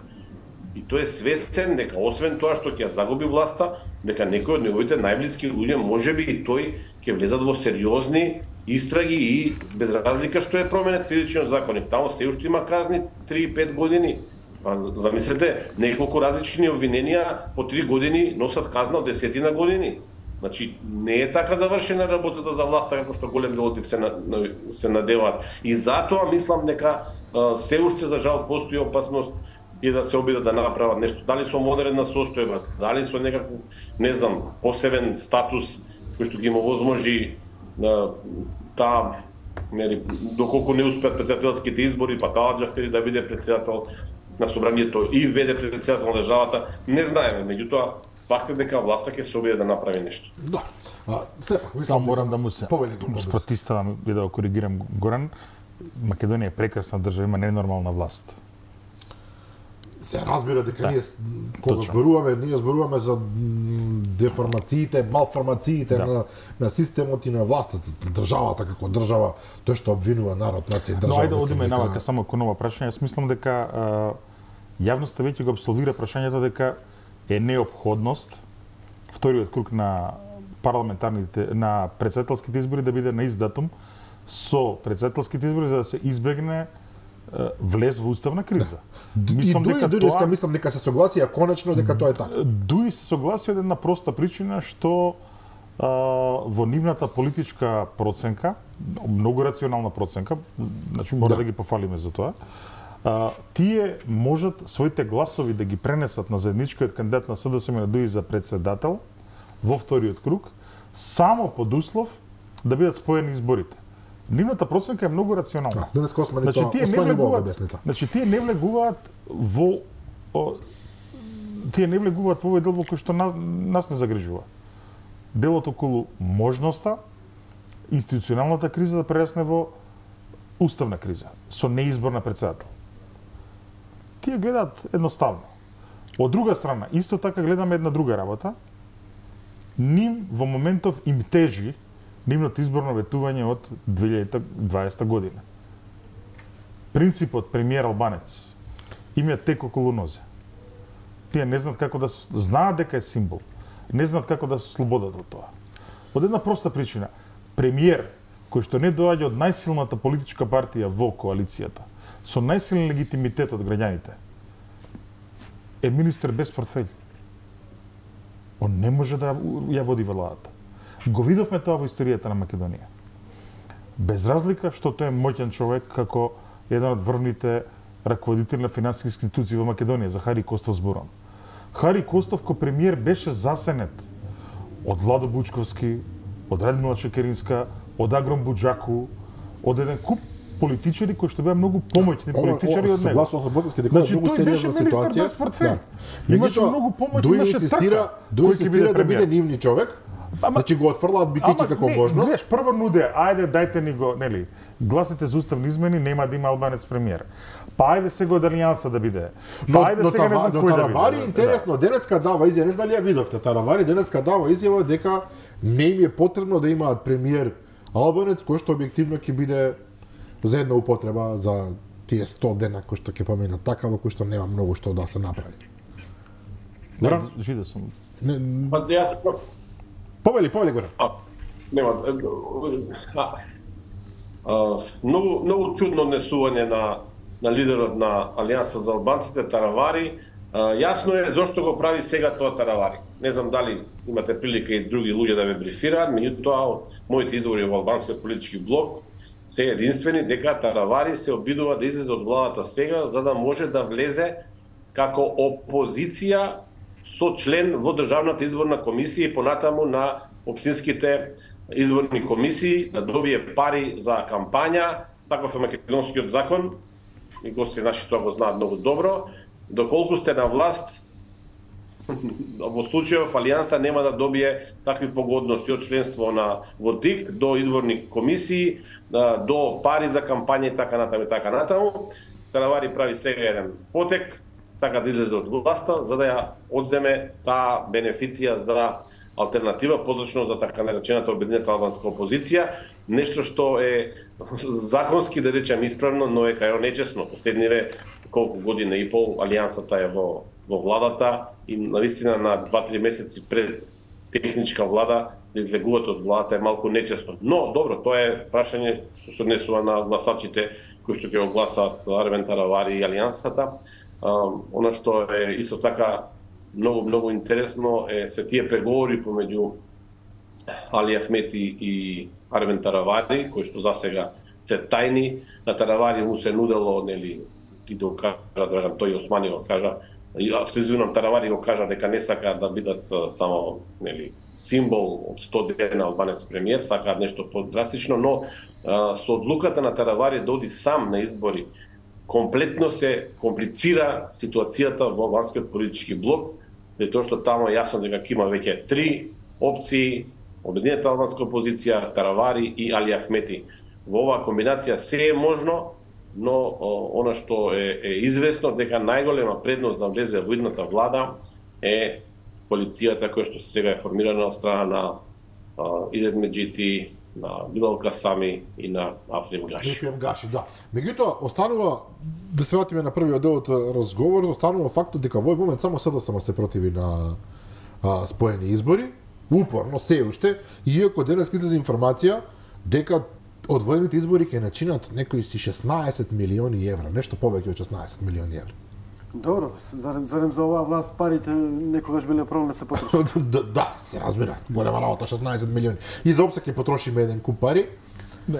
И тој е свесен дека освен тоа што ќе загуби власта, дека некој од неговите најблиски луѓе можеби и тој ќе влезат во сериозни истраги и без разлика што е променет кривичниот законник. Таму се уште има казни три и пет години. Па замислете, неколку различни обвиненија по три години носат казна од десетина години. Значи, не е така завршена работата за власта како што голем дел се на, се надеваат. И затоа мислам дека а, се уште за жал постои опасност и да се обидат да направат нешто. Дали со модерна состојба, дали со некаков, не знам, посебен статус кој што ги му возможи на таа, нели, доколку не успеат претседателските избори, па Талат Џафери да биде претседател на собранието и веде претседател на државата, не знаеме. Меѓутоа, факт е дека власта ќе се обиде да направи нешто. Да. А, сепак, мислам, само морам да му се спротиставам и да го коригирам Горан. Македонија е прекрасна држава, има ненормална власт. Се разбира дека да, ние кога точно. зборуваме, ние зборуваме за деформациите, малформациите да. на на системот и на власта, државата како држава, тоа што обвинува народ, нација и држава. Но ајде одиме дека... навака само кон ова прашање. Јас мислам дека а, јавноста веќе го абсолвира прашањето дека е неопходност вториот круг на парламентарните на претседателските избори да биде на ист датум со претседателските избори за да се избегне влез во уставна криза. Да. Мислам и дека дури тоа мислам дека се согласија конечно дека тоа е така. Дури се согласија од една проста причина што а, во нивната политичка проценка, многу рационална проценка, значи мора да, да ги пофалиме за тоа. А, тие можат своите гласови да ги пренесат на заедничкиот кандидат на СДСМ да дојде за председател во вториот круг само под услов да бидат споени изборите. Нивната проценка е многу рационална. Денес Османи значи, тоа, тие Османи не влегуваат, објасни. Значи тие не влегуваат во о, тие не влегуваат во овој дел во кој што нас, нас не загрижува. Делот околу можноста институционалната криза да прерасне во уставна криза со неизбор на председател. Тие гледаат едноставно. Од друга страна, исто така гледаме една друга работа. Ним во моментов им тежи нивното изборно ветување од две илјади и дваесета година. Принципот премиер Албанец им е тек околу нозе. Тие не знаат како да знаат дека е символ. Не знаат како да се слободат од тоа. Од една проста причина. Премиер кој што не доаѓа од најсилната политичка партија во коалицијата, со најсилен легитимитет од граѓаните, е министер без портфељ. Он не може да ја води владата. Го видовме тоа во историјата на Македонија. Без разлика што тој е моќен човек како еден од врвните раководители на финансиски институции во Македонија, за Хари Костов зборам. Хари Костов ко премиер беше засенет од Владо Бучковски, од Радмила Чекеринска, од Агром Буџаку, од еден куп политичари кои што беа многу помоќни политичари од него. Согласно со Ботевски дека е многу сериозна ситуација. Да. Имаше многу помоќ, имаше трка. Дури инсистира да биде нивни човек. Значи го отфрлаат битичи како можност. Гледаш, прво нуде, ајде дајте ни го, нели, гласите за уставни измени, нема да има албанец премиер. Па ајде сега од Алијанса да биде. Па Но, ајде но, сега не знам но кој да Таравари биде. интересно, денеска дава изјава, не знам дали ја видовте, Таравари денеска дава изјава дека не им е потребно да имаат премиер албанец кој што објективно ќе биде за една употреба за тие сто дена кои што ќе поминат такава, кои што нема многу што да се направи. Да, жида сум. Не, Па јас повели, повели горе. А, нема. А, а, многу многу чудно однесување на на лидерот на Алијанса за албанците Таравари. А, јасно е зошто го прави сега тоа Таравари. Не знам дали имате прилика и други луѓе да ве брифираат, меѓутоа од моите извори во албанскиот политички блок се единствени дека Таравари се обидува да излезе од владата сега за да може да влезе како опозиција со член во Државната изборна комисија и понатаму на општинските изборни комисии, да добие пари за кампања, таков е македонскиот закон, и гости наши тоа го знаат многу добро. Доколку сте на власт, во случајов Алијанса нема да добие такви погодности од членство на во ДИК до изборни комисии, до пари за кампања и така натаму и така натаму. Таравари прави сега еден потек, сака да излезе од власта за да ја одземе таа бенефиција за алтернатива, подрачно за така наречената обединета албанска опозиција, нешто што е законски да речем исправно, но е кај нечесно. Последниве колку година и пол Алијансата е во во владата и наистина на два-три месеци пред техничка влада да излегуваат од владата е малку нечесно. Но добро, тоа е прашање што се однесува на гласачите кои што ќе го гласаат Армен Таравари и Алијансата. Uh, она што е исто така многу многу интересно е се тие преговори помеѓу Али Ахмети и Армен Таравари, кои што засега се тајни. На Таравари му се нудело, нели, и да кажа, да тој Османи го кажа, и извинувам, Таравари го кажа дека не сака да бидат само, нели, символ од сто дена албанец премиер, сакаат нешто подрастично, но uh, со одлуката на Таравари да оди сам на избори комплетно се комплицира ситуацијата во албанскиот политички блок, и тоа што тамо е јасно дека има веќе три опции, обединета албанска опозиција, Таравари и Али Ахмети. Во оваа комбинација се е можно, но о, она што е, е известно дека најголема предност да влезе во идната влада е полицијата која што сега е формирана од страна на Изет Меджити, на Билал Касами и на Африм Гаши. Африм Гаши, да. Меѓутоа, останува, да се вратиме на првиот дел од разговор, останува фактот дека во овој момент само СДСМ се противи на а, споени избори, упорно, се уште, иако денес излезе информација дека одвоените избори ќе начинат некои си шеснаесет милиони евра, нешто повеќе од шеснаесет милиони евра. Добро, зарем, зарем за оваа власт парите некогаш биле проблем да се потрошат. да, да, се разбира, голема работа, шеснаесет милиони. И за опсек ќе потрошиме еден куп пари.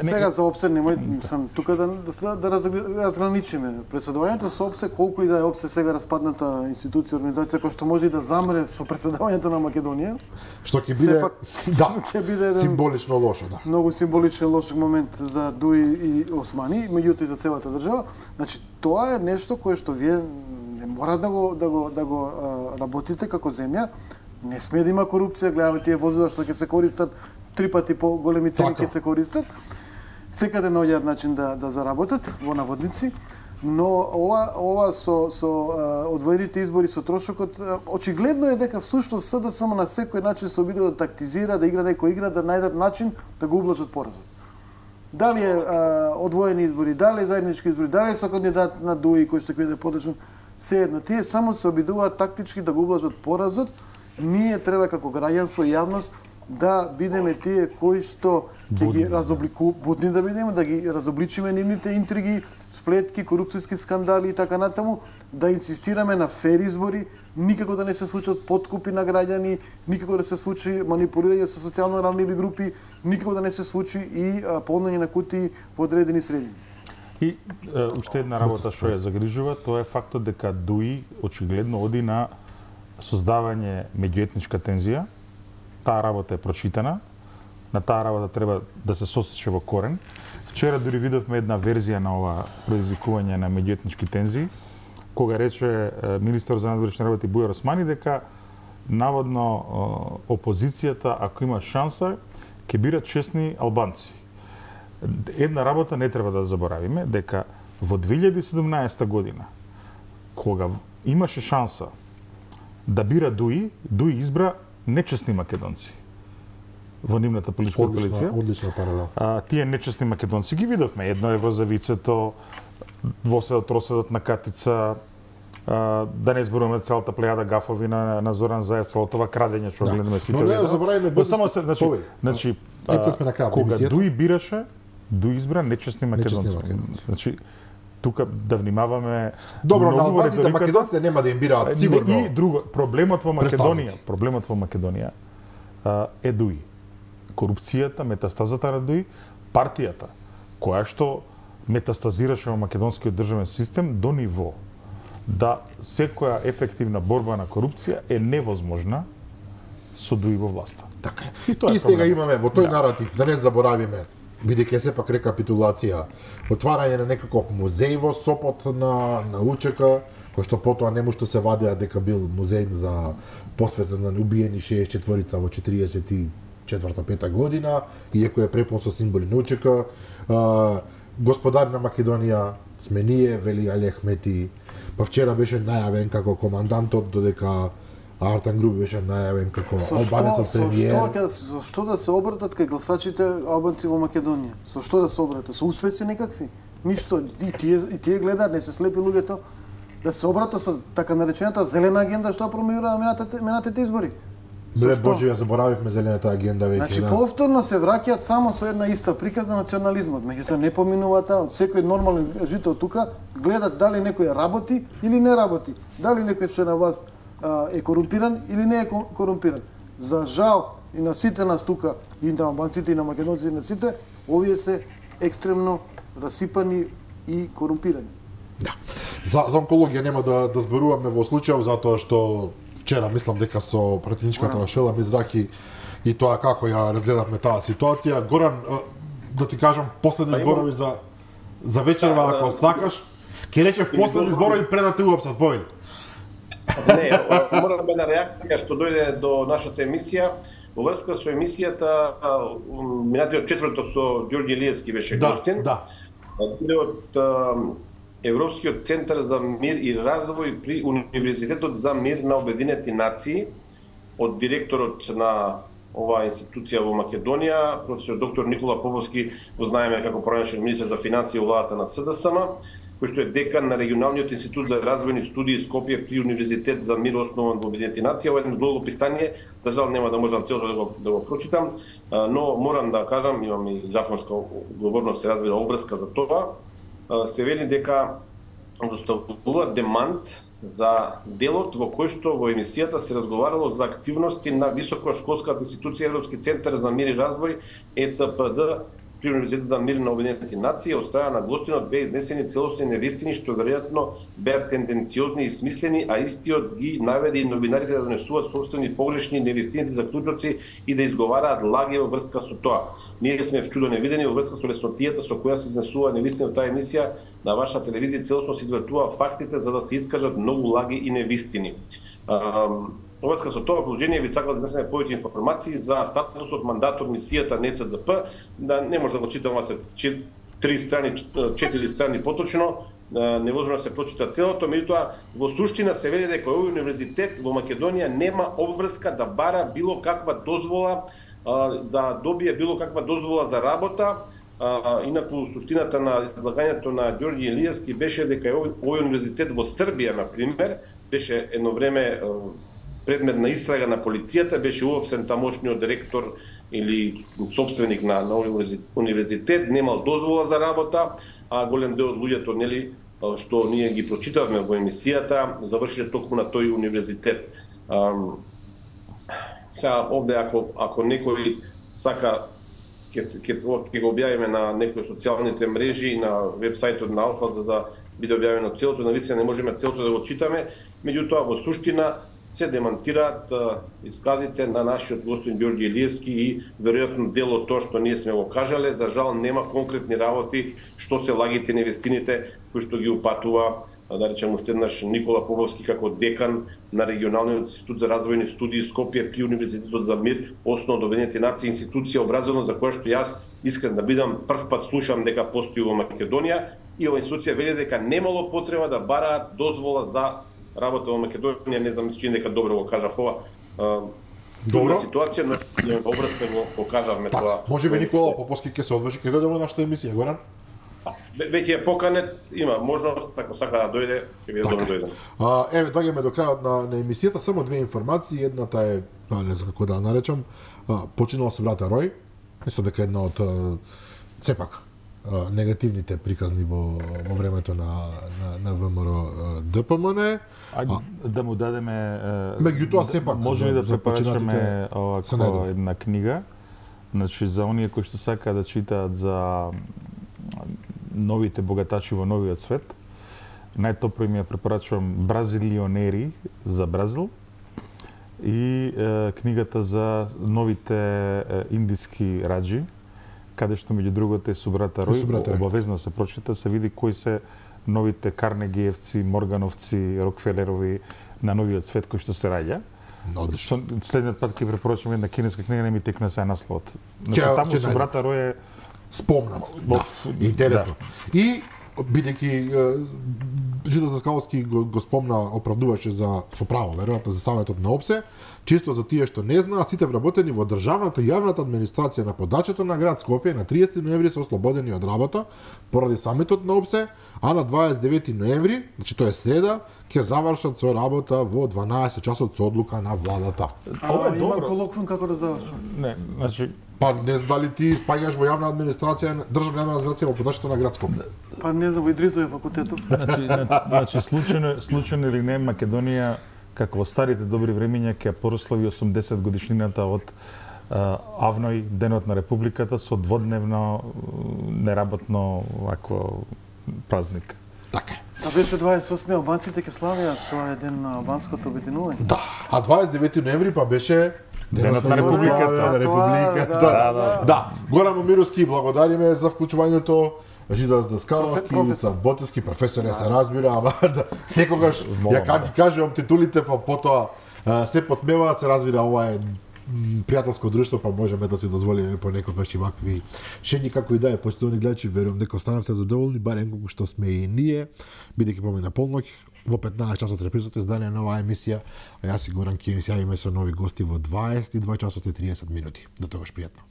Сега за опсе немој сам тука да да, да разграничиме. Председавањето со опсе, колку и да е опсе сега распадната институција, организација која што може и да замре со председавањето на Македонија, што ќе биде пак, да, ќе биде еден символично лошо, да. Многу символичен лош момент за Дуи и Османи, меѓутоа и за целата држава. Значи тоа е нешто кое што вие не мора да го да го да го а, работите како земја. Не смее да има корупција, гледаме тие возила што ќе се користат три пати по големи цени ќе се користат. Секаде наоѓаат начин да да заработат во наводници, но ова ова со со а, одвоените избори со трошокот очигледно е дека всушност СДСМ на секој начин се обидува да тактизира, да игра некој игра, да најдат начин да го ублажат поразот. Дали е а, одвоени избори, дали е заеднички избори, дали е со кандидат на Дуи кој што ќе биде подлежен, се едно. Тие само се обидуваат тактички да го ублажат поразот. Ние треба како граѓанство и јавност да бидеме тие кои што ќе ги разоблику, будни да бидеме, да ги разобличиме нивните интриги, сплетки, корупцијски скандали и така натаму, да инсистираме на фер избори, никако да не се случат подкупи на граѓани, никако да се случи манипулирање со социјално ранливи групи, никако да не се случи и полнење на кутии во одредени средини. И е, уште една работа што ја загрижува, тоа е фактот дека Дуи очигледно оди на создавање меѓуетничка тензија. Таа работа е прочитана. На таа работа треба да се сосече во корен. Вчера дури видовме една верзија на ова предизвикување на меѓуетнички тензии, кога рече министер за надворешни работи Бујар Османи дека наводно опозицијата, ако има шанса, ќе бира честни албанци. Една работа не треба да заборавиме, дека во две илјади и седумнаесета година, кога имаше шанса да бира Дуи, Дуи избра нечестни македонци во нивната политичка коалиција. Одлична паралел. А, тие нечестни македонци ги видовме. Едно евро за вицето, двоседот, троседот на Катица, а, да не зборуваме целата плејада гафови на, на Зоран Заев, целото ова крадење што да. гледаме сите. Но не забораваме да, само се, значи, значи а, сме на крај, кога Дуи бираше, Дуи избра нечестни македонци. Нечестни македонци. Значи, тука да внимаваме. Добро, на албанците македонците нема да им бираат сигурно. И друго, проблемот во Македонија, проблемот во Македонија а, е Дуи. Корупцијата, метастазата на Дуи, партијата која што метастазираше во македонскиот државен систем до ниво да секоја ефективна борба на корупција е невозможна со Дуи во власта. Така е. И, и сега имаме во тој да. наратив, да не заборавиме, бидејќи сепак рекапитулација, отварање на некаков музеј во Сопот на на УЧК, кој што потоа не му што се вадеа дека бил музеј за посветен на убиени шеесет и четворица во четириесет и четврта пета година, иако е препол со символи на УЧК. Господар на Македонија сме ние, вели Али Ахмети, па вчера беше најавен како командантот, додека Артан Груби беше најавен како албанецот премиер. Со што, со што да се обратат кај гласачите албанци во Македонија? Со што да се обратат? Со успеси некакви? Ништо. И тие, и тие гледаат, не се слепи луѓето, да се обратат со така наречената зелена агенда што промојува минатите, минатите избори. Бре Боже, ја заборавивме зелената агенда веќе. Значи, да. повторно се враќаат само со една иста приказна национализмот. Меѓутоа не поминуваат од секој нормален жител тука, гледат дали некој работи или не работи, дали некој што е на власт е корумпиран или не е корумпиран. За жал и на сите нас тука, и на албанците и на македонците, и на сите, овие се екстремно расипани и корумпирани. Да. За, за онкологија нема да, да зборуваме во случајов, затоа што вчера мислам дека со пратеничката на Шела Мизраки и тоа како ја разгледавме таа ситуација. Горан, да ти кажам последни зборови за за вечерва, ако сакаш. Ќе речев последни зборови пред да те уапсат, повели. Не, морам една реакција што дојде до нашата емисија. Во врска со емисијата, минатиот четврток со Ѓорѓи Илиевски беше да, гостин. Да, од Европскиот центар за мир и развој при Универзитетот за мир на Обединети нации, од директорот на оваа институција во Македонија, професор доктор Никола Поповски, го знаеме како поранешен министер за финансии во владата на СДСМ, кој што е декан на Регионалниот институт за развојни студии Скопје при Универзитет за мир основан во Обединети нации. Ова е едно долго писание, за жал нема да можам целото да го, да го прочитам, но морам да кажам, имам и законска одговорност, се разбира, обврска за тоа. Се вели дека доставува демант за делот во кој што во емисијата се разговарало за активности на високошколската институција Европски центар за мир и развој Е Ц П Д при Универзитет за мир на Обединети нации. Од страна на гостинот беа изнесени целосни невистини што веројатно беа тенденциозни и смислени, а истиот ги наведе и новинарите да донесуваат собствени погрешни невистините заклучоци и да изговараат лаги во врска со тоа. Ние сме вчудо невидени во врска со леснотијата со која се изнесува невистини од таа емисија. На ваша телевизија целосно се извртува фактите за да се искажат многу лаги и невистини. Во врска со тоа положение ви сакам да изнесеме повеќе информации за статусот, мандатот, мисијата на Е Ц Д П. Да не може да го читам се три страни, четири страни поточно, невозможно да се прочита целото, меѓутоа во суштина се вели дека овој универзитет во Македонија нема обврска да бара било каква дозвола, да добие било каква дозвола за работа. А, инаку суштината на излагањето на Ѓорѓи Илиевски беше дека овој, овој универзитет во Србија, на пример, беше едно време предмет на истрага на полицијата, беше уопсен тамошниот директор или собственик на, на универзитет, немал дозвола за работа, а голем дел од луѓето, нели, што ние ги прочитавме во емисијата, завршиле токму на тој универзитет. А, сега овде ако ако некој сака ќе ќе го објавиме на некои социјалните мрежи и на вебсајтот на Алфа за да биде објавено целото, навистина не можеме целото да го читаме, меѓутоа во суштина се демонтираат исказите на нашиот господин Ѓорѓе Илиевски и веројатно дел од тоа што ние сме го кажале. За жал нема конкретни работи што се лагите невестините кои што ги упатува, да речем уште еднаш, Никола Поповски како декан на Регионалниот институт за развојни студии Скопје при Универзитетот за мир, основа од Обединетите нации, институција образована за која што јас искрен да бидам прв пат слушам дека постои во Македонија, и оваа институција вели дека немало потреба да бараат дозвола за работа во Македонија. Не знам, мислам дека добро го кажав ова. Добра ситуација, но обрска го покажавме так, тоа. Можеби Никола Поповски ќе се одврши ќе дојде во нашата емисија, Горан? Веќе е поканет, има можност, ако сака да дојде, ќе биде добро дојде. А, еве, доаѓаме до крајот на, на емисијата, само две информации. Едната е, не знам како да ја наречам, починала со брата Рој. Мислам дека една од сепак негативните приказни во, во времето на, на, на ВМРО ДПМН. Ајде да му дадеме... Меѓутоа сепак може да препорачаме овако една книга, значи за оние кои што сакаат да читаат за новите богатачи во новиот свет. Најтопро им ја препорачувам Бразилионери за Бразил и е, книгата за новите е, индиски раџи, каде што меѓу другото е Субрата Рој, обавезно се прочита, се види кои се новите Карнегиевци, Моргановци, Рокфелерови на новиот свет кој што се раѓа. Што следниот пат ќе препорачам една кинеска книга, не ми текна се насловот. Значи таму Субрата Рој е спомнат. Да, интересно. Да. И бидејќи Жидо Заскаловски го, го спомна, оправдуваше за со право, веројатно за Саветот на ОПСЕ, чисто за тие што не знаат, сите вработени во државната и јавната администрација на подачето на град Скопје на триесети ноември се ослободени од работа поради самитот на ОПСЕ, а на дваесет и девети ноември, значи тоа е среда, ќе завршат со работа во дванаесет часот со одлука на владата. А, а има колоквиум како да завршат? Не, значи па не знам дали ти спаѓаш во јавна администрација, државна јавна администрација во подачето на град Скопје. Па не знам, во Идрисовиот факултетов. Значи, значи случајно, случајно или не, Македонија како во старите добри времиња ќе прослави осумдесет годишнината од а, Авној, денот на Републиката, со дводневно неработно вакво празник. Така е. А беше дваесет и осми албанците ќе славиат, тоа е ден на албанското обединување. Да, а дваесет и девети ноември па беше денот на Републиката. На Републиката. Да, да, да. Да, Горан Момировски, благодариме за вклучувањето. Жидо Заскаловски, Уцат Ботевски, професор, се разбира, ама да, секогаш ја как ги кажувам титулите, па потоа се подсмеваат, се разбира, ова е пријателско друштво, па можеме да си дозволиме понекогаш и вакви шеги, како и да е. Почитувани гледачи, верувам дека останавте задоволни, барем колку што сме и ние, бидејќи помина полноќ, во петнаесет часот репризото издание на оваа емисија, а јас и Горан ќе се јавиме со нови гости во дваесет и два часот и триесет минути. До тогаш пријатно.